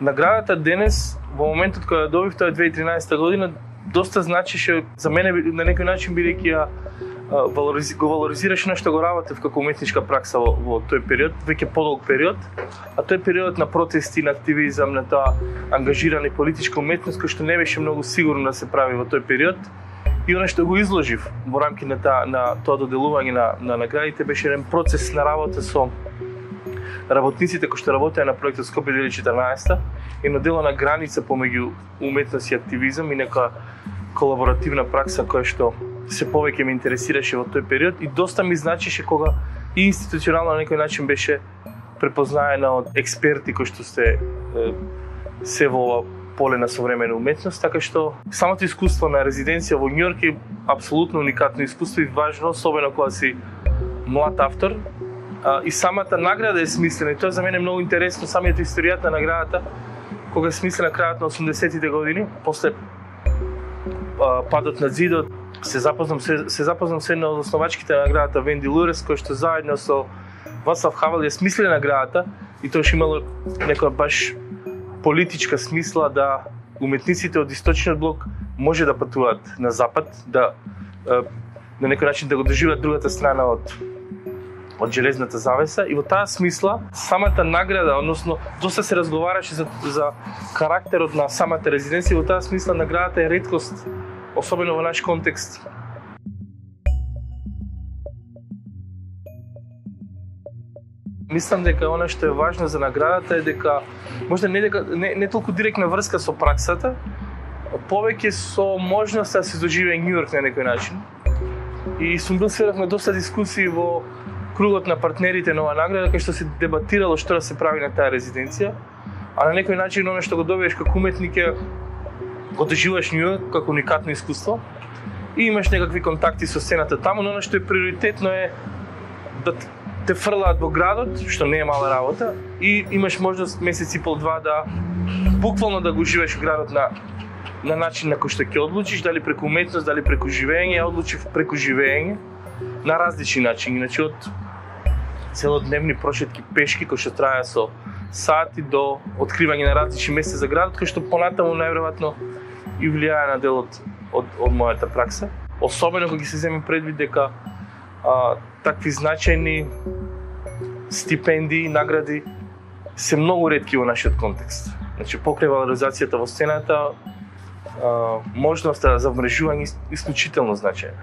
Наградата денес, во моментот кога добив, тоа е 2013 година, доста значеше за мене на некој начин, бидејќи ја го валоризираше нешто го работев како уметничка пракса во тој период, веќе подолг период, а тој период на протести, на активизам, на тоа ангажирана и политичка уметност кој што не беше многу сигурно да се прави во тој период. И оно што го изложив во рамки на тоа доделување на наградите беше еден процес на работа со работниците кои што работеа на проектот Скопје 2014 и на дело на граница помеѓу уметност и активизам и нека колаборативна пракса која што се повеќе ме интересираше во тој период и доста ми значеше кога и институционално на некој начин беше препознаена од експерти кои што се во ова поле на современа уметност, така што самото искуство на резиденција во Њујорк е апсолутно уникатно искуство и важно, особено кога си млад автор. И самата награда е смислена и тоа за мене е многу интересно, самиот историјата на наградата, кога е смислена крајот на 80-тите години, после падот на зидот, се запознам се една од основачките на наградата Венди Лурес, кој што заедно со Вацлав Хавел ја смисле наградата и тоа што имало некоја баш политичка смисла да уметниците од источниот блок може да патуваат на запад, да на некој начин да го доживеат другата страна од железната завеса и во таа смисла самата награда, односно доста се разговараше за карактерот на самата резиденција, во таа смисла наградата е реткост, особено во наш контекст. Мислам дека она што е важно за наградата е дека можда не толку директна врска со праксата, повеќе со можноста да се доживее Њујорк на некој начин. и сум бил сведок на доста дискусии во кругот на партнерите на оваа награда, кај што се дебатирало што да се прави на таа резиденција, а на некој начин оно што го добиеш како уметник е го доживаш њу како уникатно искуство и имаш некакви контакти со сцената таму, но оно што е приоритетно е да те фрлаат во градот, што не е мала работа, и имаш можност месец и пол два да буквално да го уживаш градот на начин на кој што ќе одлучиш, дали преку уметност, дали преку живење. Ја одлучив преку живење на различни начини, значи од целодневни прошетки пешки кои што траја со сати до откривање на различни места за градот, кои што понатаму најверојатно и влијае на дел од мојата пракса. Особено кога се земе предвид дека такви значајни стипендии, награди се многу ретки во нашиот контекст. Значи, покрај валоризацијата во сцената, можноста за вмрежување исклучително значајна.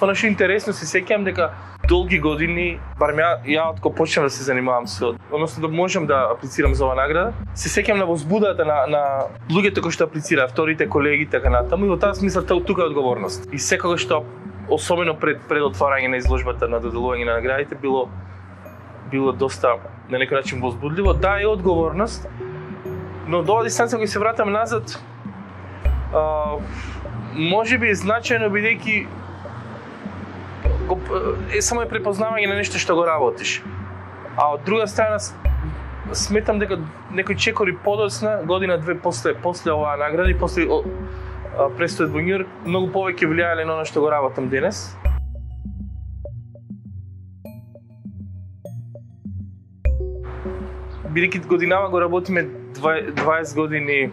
Оно што интересно, се сеќавам дека долги години, барем ја од кога почнав да се занимавам со, односно да можам да аплицирам за оваа награда, се сеќавам на возбудата на луѓето кои што аплицираа, вторите колеги така натаму, и во таа смисла тука е одговорност. И секогаш што особено пред отварање на изложбата на доделување на наградите било доста на некој начин возбудливо. Да, е одговорност, но до оваа дистанца кога се вратам назад, можеби е значајно бидејќи само е препознавање на нешто што го работиш. А од друга страна сметам дека некои чекори подоцна, година-две после оваа награда и после престојот во Њујорк, многу повеќе влијаеле на оно што го работам денес. Бидејќи годинава го работиме 20 години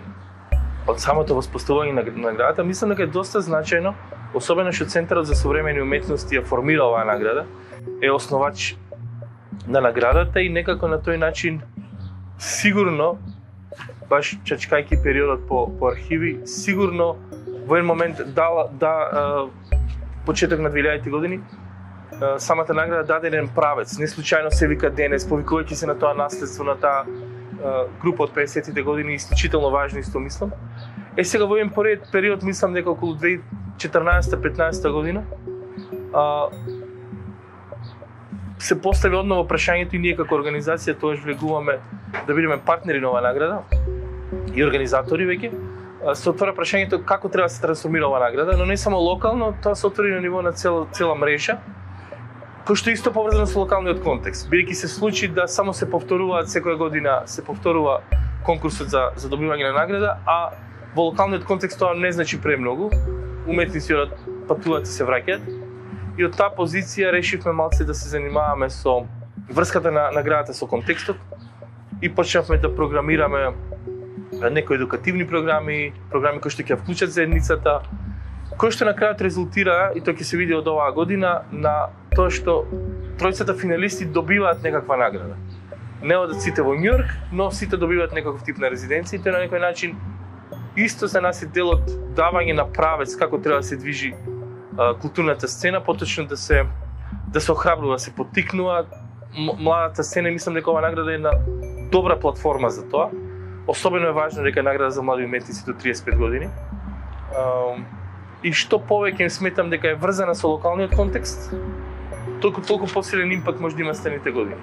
од самото воспоставување на наградата, мислам дека е доста значајно, особено што Центарот за современи уметности ја формира оваа награда, е основач на наградата и некако на тој начин сигурно, баш чачкајќи периодот по архиви, сигурно во еден момент почеток на 2000-ти години, самата награда даде еден правец. Не случајно се вика денес, повикувајќи се на тоа наследство, на таа група од 50-тите години, исклучително важно исто мислам. Сега во еден период мислам дека околу 2014-15 година се постави одново прашањето и ние како организација тоаш влегуваме да бидеме партнери на оваа награда и организатори веќе. Се отвора прашањето како треба да се трансформира оваа награда, но не само локално, тоа се отвори на ниво на цела мрежа, кој што исто поврзано со локалниот контекст. Бидејќи се случи да само се повторуваат секоја година, се повторува конкурсот за добивање на награда, а во локалниот контекст тоа не значи премногу. Уметници патуваат и се враќаат. И од таа позиција решивме малце да се занимаваме со врската на наградата со контекстот и почнавме да програмираме некои едукативни програми кои што ќе вклучат заедницата, кој што на крајот резултира, и тоа ќе се види од оваа година, на тоа што тројцата финалисти добиваат некаква награда. Не одат сите во Њујорк, но сите добиваат некаков тип на резиденција и тоа на некој начин исто за нас е дел од давање на правец како треба да се движи културната сцена, поточно да се охрабрува, да се поттикнува младата сцена и мислам дека оваа награда е една добра платформа за тоа. Особено е важно дека е награда за млади уметници до 35 години. И што повеќе сметам дека е врзана со локалниот контекст, толку посилен импакт може да има следните години.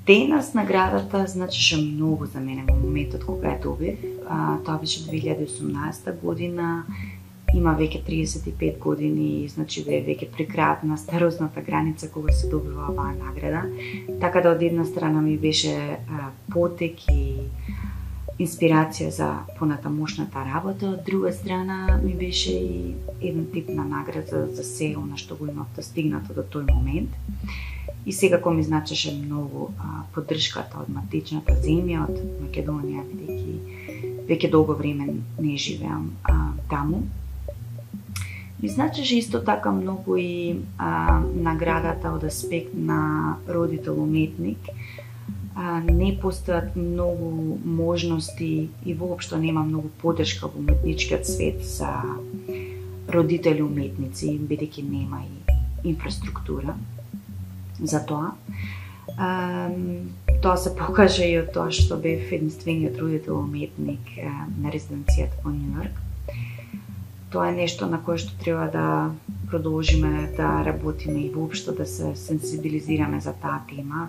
Денес наградата значеше многу за мене во моментот кога ја добив. Тоа беше 2018 година. Има веќе 35 години, значи да е веќе при крајот на старосната граница кога се добива оваа награда. Така да од една страна ми беше потек и инспирација за понатамошната работа, од друга страна ми беше и еден тип на награда за се она што го имав достигнато до тој момент. И секако ми значеше многу поддршката од матичната земја, од Македонија, бидејќи веќе долго време не живеам таму. Ми значеше исто така многу и наградата од аспект на родител-уметник. Не постојат многу можности и воопшто нема многу поддршка во уметничкиот свет за родители уметници, бидејќи нема и инфраструктура за тоа. Тоа се покаже и од тоа што бев единствениот родител уметник на резиденцијата во Њујорк. Тоа е нешто на кое што треба да продолжиме да работиме и воопшто да се сенсибилизираме за таа тема.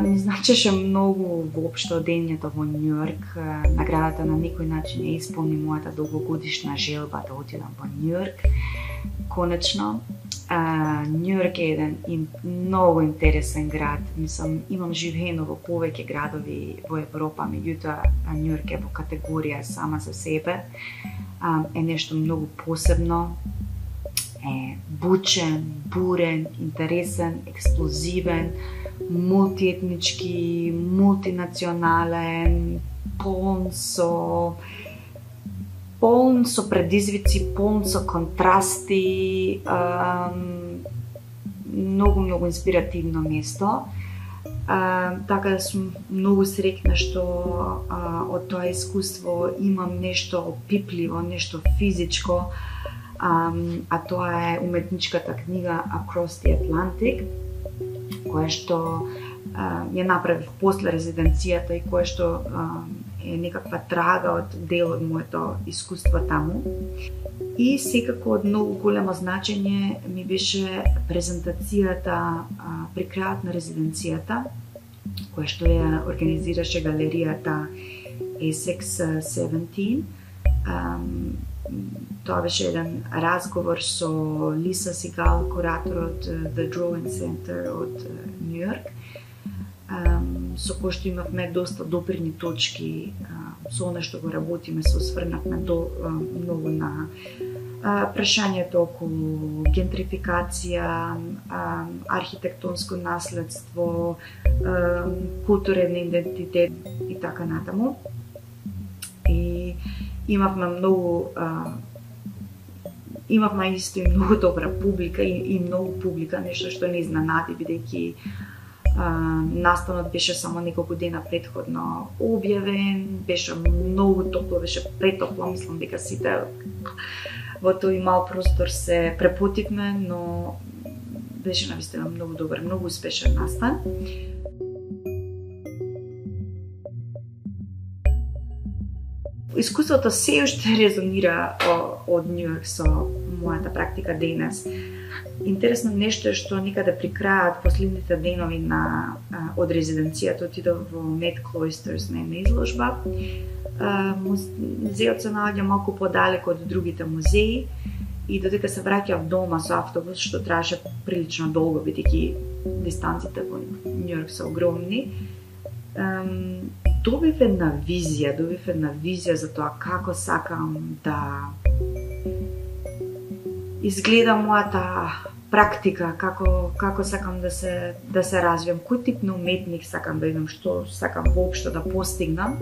Ми значеше многу воопшто дењето во Њујорк. Наградата на некој начин ја исполни мојата долгогодишна желба да отидам во Њујорк. Конечно, Њујорк е еден многу интересен град. Мислам, имам живеено во повеќе градови во Европа, меѓутоа Њујорк е во категорија сама за себе. Е нешто многу посебно. Е бучен, бурен, интересен, експлозивен, мултиетнички, мултинационален, полн со предизвици, полн со контрасти, многу инспиративно место. Така да сум многу среќна што од тоа искуство имам нешто опипливо, нешто физичко, а тоа е уметничката книга Across the Atlantic, која што ја направив после резиденцијата и која што е некаква трага од дел од моето искуство таму. И секако од многу големо значење ми беше презентацијата при крајот на резиденцијата, која што ја организираше галеријата Essex 17. Тоа беше еден разговор со Лиса Сигал, куратор од The Drawing Center од Њујорк, со кој што имавме доста допирни точки со она што го работиме, се осврнавме многу на прашањето околу гентрификација, архитектонско наследство, културен идентитет и така натаму. И имавме исто и многу добра публика и многу публика, нешто што не изненади, бидејќи настанот беше само неколку дена претходно објавен, беше многу топло, беше претопло, мислам дека сите во тој мал простор се препотивме, но беше навистина многу добар, многу успешен настан. Искуството се уште резонира од Њујорк со мојата практика денес. Интересно нешто е што некаде при крајот, последните денови од резиденцијата, отидов во Met Cloisters на една изложба. Музеот се наоѓа малку подалеку од другите музеи и додека се враќав дома со автобус, што траеше прилично долго, бидејќи дистанците во Њујорк се огромни, добив една визија за тоа како сакам да изгледа мојата практика, како сакам да се развијам, кој тип на уметник сакам да идам, што сакам воопшто да постигнам.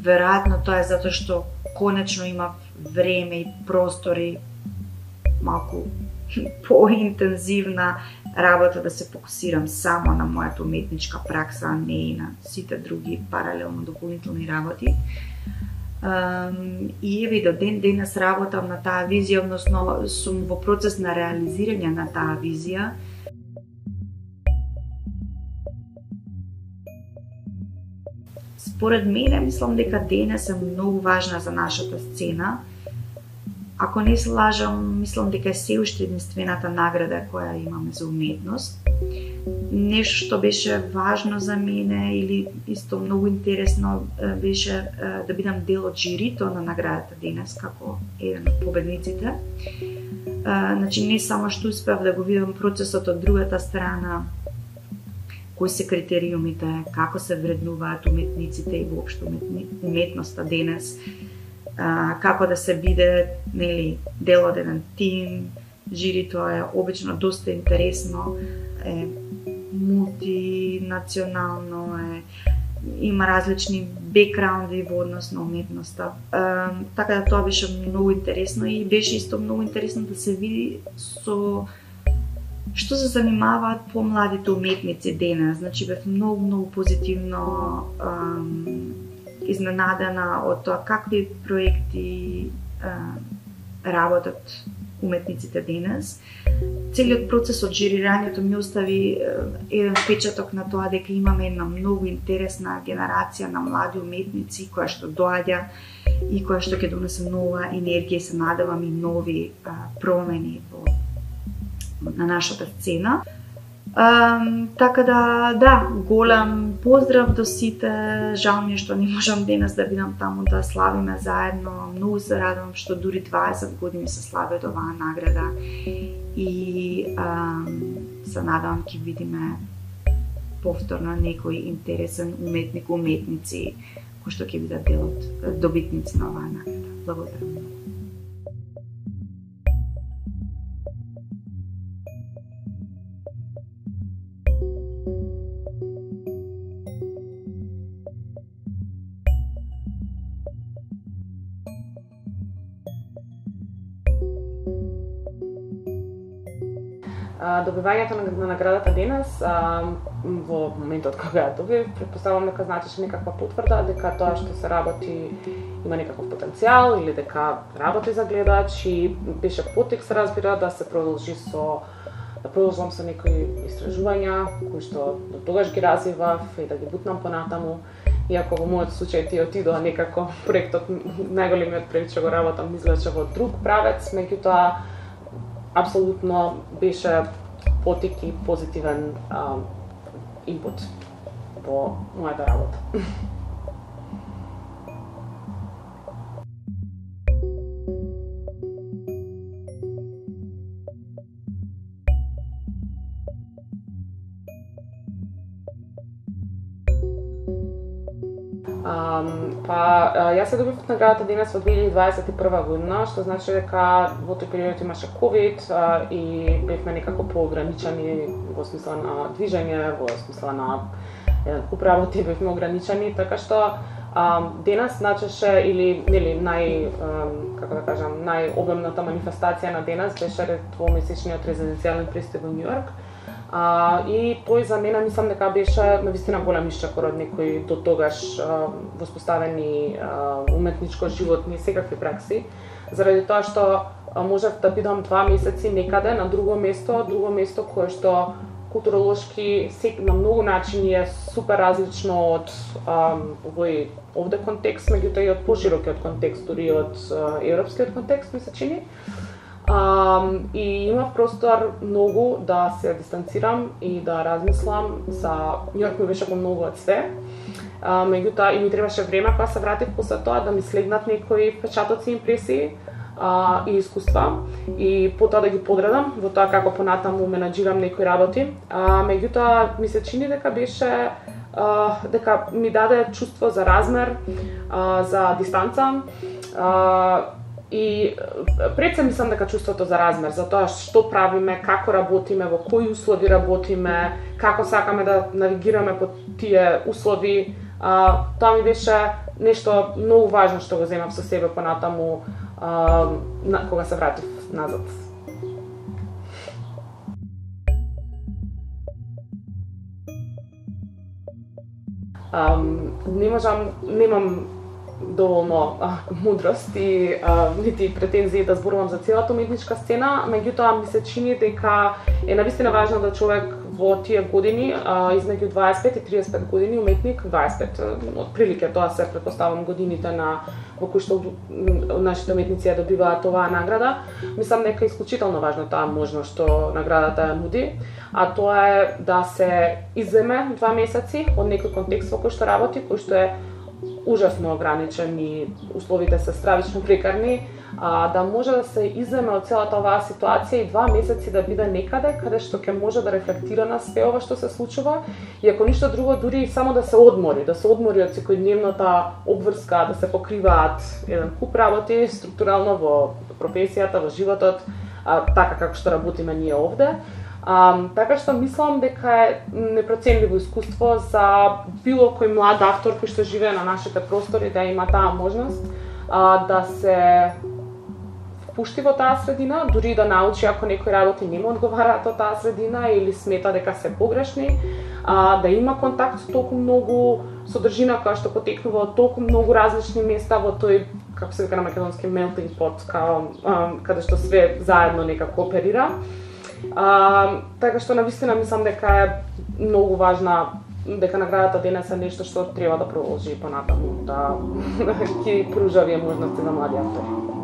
Веројатно тоа е затоа што конечно имав време и простори малку поинтензивна работа да се фокусирам само на мојата уметничка пракса, а не и на сите други паралелно дополнителни работи. И еве до ден денес работам на таа визија, односно сум во процес на реализирање на таа визија. Според мене, мислам дека денес е многу важна за нашата сцена ако не се лажам, мислам дека е се уште единствената награда која имаме за уметност. Нешто што беше важно за мене или исто многу интересно беше да бидам дел од жирито на наградата денес како еден од победниците. Значи не само што успеав да го видам процесот од другата страна, кои се критериумите, како се вреднуваат уметниците и воопшто уметноста денес, како да се биде дел од еден тим. Жирито е обично доста интересно, е мултинационално, има различни бекграунди во однос на уметноста. Така да тоа беше многу интересно и беше исто многу интересно да се види со што се занимаваат помладите уметници денес. Значи бев многу позитивно изненадена од тоа какви проекти работат уметниците денес. Целиот процес од жирирањето ми остави еден впечаток на тоа дека имаме една многу интересна генерација на млади уметници која што доаѓа и која што ќе донесе нова енергија и се надевам и нови промени на нашата сцена. Така да, голем поздрав до сите. Жал ми е што не можам денес да бидам таму да славиме заедно. Многу се радувам што дури 20 години се слави од оваа награда и се надевам ќе видиме повторно некој интересен уметник, уметници кои што ќе бидат дел од добитници на оваа награда. Благодарам. Добивањето на наградата денес, во моментот кога ја добив, претпоставувам дека значеше некаква потврда дека тоа што се работи има некаков потенцијал или дека работи за гледач и беше поттик се разбира да се продолжи да продолжам со некои истражувања кои што до тогаш ги развивав и да ги бутнам понатаму. Иако во мојот случај тие отидоа некако проектот, најголемиот проект што го работам излече во друг правец, меѓутоа апсолутно беше поттик и позитивен инпут во мојата работа. Јас се добив наградата денес во 2021 година, што значи дека во тој период имаше ковид и бевме некако поограничени во смисла на движење, во смисла на куп работи бевме ограничени, така што денес значеше или најобемната манифестација на денес беше двомесечниот резиденцијален престој во Њујорк. И тој за мене мислам дека беше навистина голем исчекор од некои до тогаш воспоставени уметничко-животни секакви пракси, заради тоа што можев да бидам 2 месеци некаде на друго место кое што културолошки на многу начини е супер различно од овој овде контекст, меѓутоа и од поширокиот контекст, дури од европскиот контекст ми се чини. И имав простор многу да се дистанцирам и да размислам за Њујорк ми беше помногу од све. Меѓутоа и ми требаше време кога се вратив после тоа да ми слегнат некои впечатоци, импресии и искуства и потоа да ги подредам во тоа како понатаму менаџирам некои работи. Меѓутоа ми се чини дека беше дека ми даде чувство за размер, за дистанца. И пред се мислам дека чувството за размер, за тоа што правиме, како работиме, во кои услови работиме, како сакаме да навигираме по тие услови, тоа ми беше нешто многу важно што го земав со себе понатаму кога се вратив назад. Немам доволно мудрост и нити претензии да зборувам за целата уметничка сцена, меѓутоа ми се чини дека е навистина важно да човек во тие години, измеѓу 25 и 35 години, уметник 25, отприлике тоа се претпоставам годините во кои што нашите уметници ја добиваат оваа награда. Мислам дека е исклучително важно таа можност што наградата ја нуди, а тоа е да се изземе 2 месеци од некој контекст во кој што работи, кој што е ужасно ограничен и условите се стравично прекарни, да може да се изземе од целата оваа ситуација и 2 месеци да биде некаде каде што ќе може да рефлектира на све ова што се случува и ако ништо друго дури само да се одмори од секојдневната обврска, да се покриваат еден куп работи структурално во професијата, во животот, така како што работиме ние овде. Така што мислам дека е непроценливо искуство за било кој млад автор кој што живее на нашите простори да има таа можност да се впушти во таа средина, дури да научи ако некои работи не му одговараат од таа средина или смета дека се погрешни, да има контакт со толку многу содржина која што потекнува од толку многу различни места во тој, како се вика на македонски, melting pot, каде што све заедно некако оперира. Така што навистина мислам дека е многу важна, дека наградата денес е нешто што треба да продолжи понатаму, да ќе пружа овие можности за млади автори.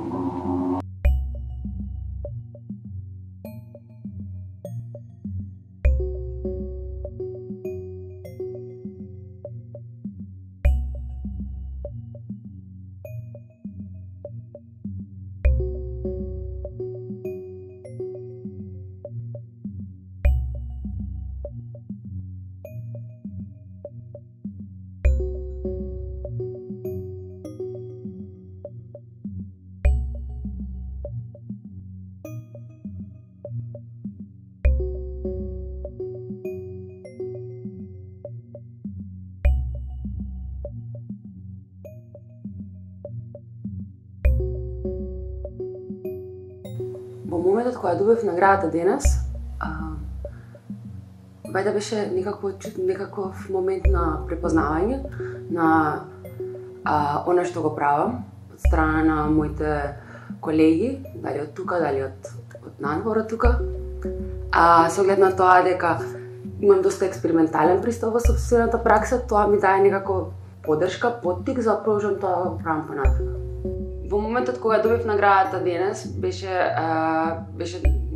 Во моментот кога добив наградата денес, бајде беше некаков момент на препознавање на она што го правам од страна на моите колеги, дали од тука, дали од надвор од тука. Со оглед на тоа дека имам доста експериментален пристап во сопствената пракса, тоа ми даде некако поддршка, поттик за да продолжам тоа да го правам понатаму. Во моментот кога добив наградата денес, беше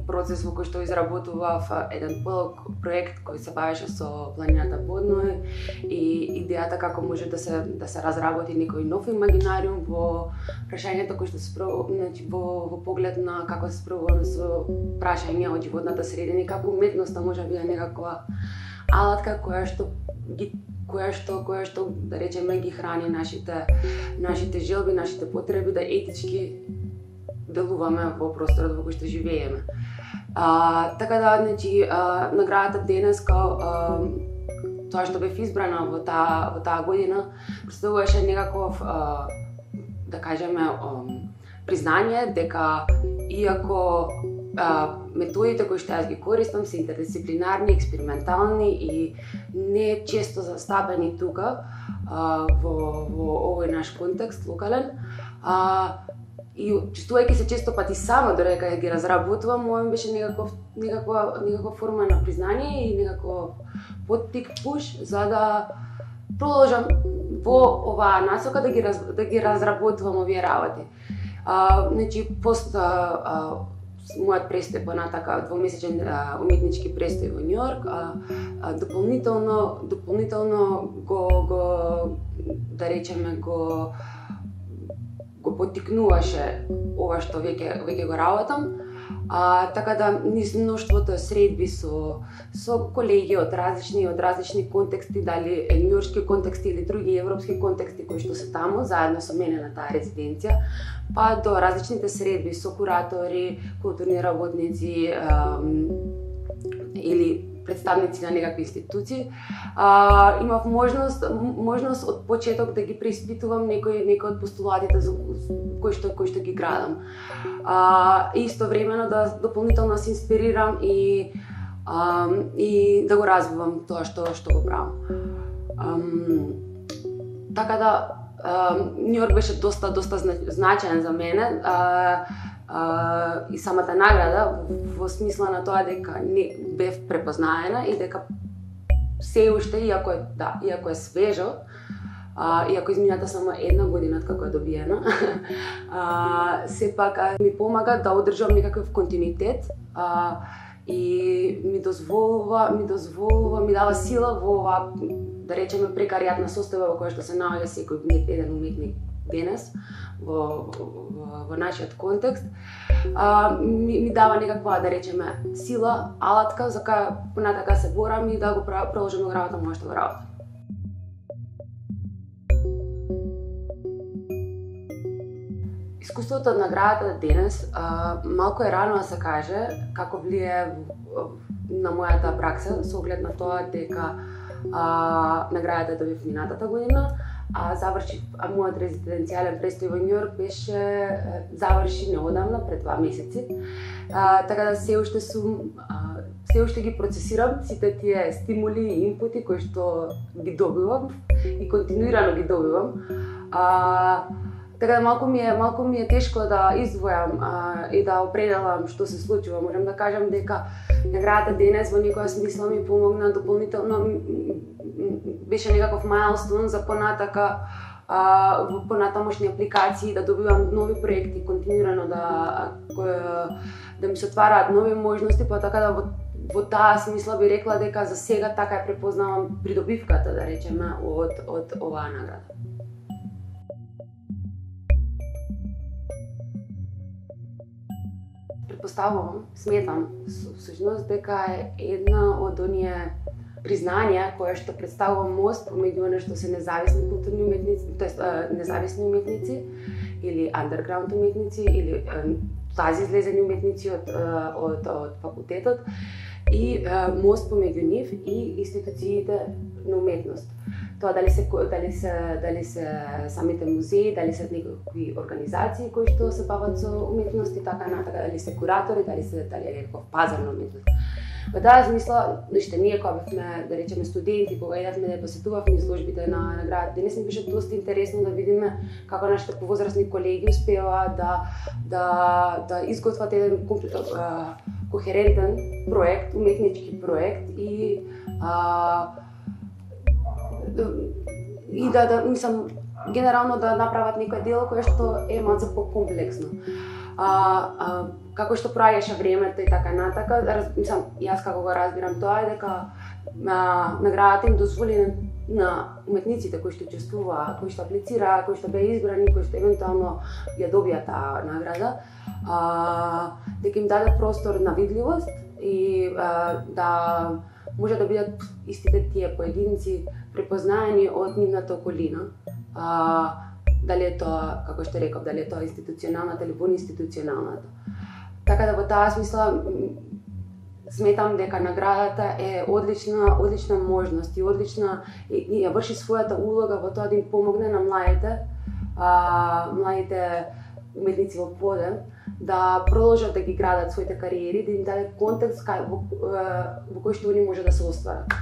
процес во кој што изработував еден полог проект кој се бавеше со планината Подној и идејата како може да се разработи некој нов имагинариум во прашањето кој што се во поглед на како се справуваме со прашања од животната средина и како уметноста може да биде некаква алатка која што да речеме ги храни нашите желби, нашите потреби да етички делуваме во просторот во кој што живееме. Така да, наградата денес тоа што бев избрана во таа година представуваше некаков, да кажеме, признање дека иако методите кои што јас ги користам се интердисциплинарни, експериментални и не често застапени тука во овој наш контекст локален, и чувствувајќи се често пати сама додека ги разработувам, ова беше некаква форма на признање и некаков поттик, пуш за да продолжам во оваа насока да ги разработувам овие работи. Пост мојот престој понатака, двомесечен уметнички престој во Њујорк, дополнително го да речеме го поттикнуваше ова што веќе го работам. Така да низ мноштвото средби со колеги од различни контексти, дали њујоршки контексти или други европски контексти кои што се таму заедно со мене на таа резиденција, па до различните средби со куратори, културни работници или представници на некакви институции, имав можност од почеток да ги преиспитувам некои од постулатите кои што ги градам. Истовремено да дополнително се инспирирам и да го развивам тоа што го правам. Така да Њујорк беше доста значаен за мене. и самата награда во смисла на тоа дека не бев препознаена и дека се уште, иако е свежо, иако измината само една година како е добиена, сепак ми помага да одржам некаков континуитет и ми дава сила во ова, да речеме, прекаријатна состојба во која што се наоѓа секој еден уметник денес во нашиот контекст. Ми дава некаква, да речеме, сила, алатка за каја понатака се борам и да го продолжам да работам моја што го работам. Искуството од наградата денес малку е рано да се каже како влие на мојата пракса со оглед на тоа дека наградата добив минатата година, заврши мојот резиденцијален престој во Њујорк заврши неодамна, пред 2 месеци. Така да се уште ги процесирам сите тие стимули и инпути кои што ги добивам и континуирано ги добивам. Така да малку ми е тешко да издвојам и да определам што се случува. Можам да кажам дека наградата денес во некоја смисла ми помогна дополнително, беше некаков мајлстон за понатака во понатамошни апликации, да добивам нови проекти континуирано, да ми се отвараат нови можности, па така да во таа смисла би рекла дека за сега така ја препознавам придобивката, да речеме, од оваа награда. Сметам всушност дека е една од оние признанија која што представува мост помеѓу нешто се независни културни уметници, тоест независни уметници или underground уметници или тази излезени уметници од факултетот и мост помеѓу нив и институциите на уметност. Тоа дали се самите музеи, дали се некакви организации кои што се бават со уметност и така натака, дали се куратори, дали е некаков пазар на уметност. Во таа смисла, ние кога бевме, да речеме, студенти, кога идевме да посетувавме изложбите на наградата, денес ми беше доста интересно да видиме како нашите повозрастни колеги успеа да изготват еден кохерентен проект, уметнички проект и мислам, генерално да направат некој дело кое што е малку покомплексно. Како што проаѓаше времето и така натака, мислам, јас како го разбирам тоа е дека наградата им дозволи на уметниците кои што учествуваа, кои што аплицираа, кои што беа избрани, кои што евентуално ја добија таа награда, дека им даде простор на видливост и да може да бидат истите тие поединци препознаени од нивната околина. Дали е тоа, како што реков, дали е тоа институционалната или вонинституционалната. Така да во таа смисла сметам дека наградата е одлична можност и ја врши својата улога во тоа да им помогне на младите уметници во подем да продолжат да ги градат своите кариери, да им даде контекст во кој што они може да се остварат.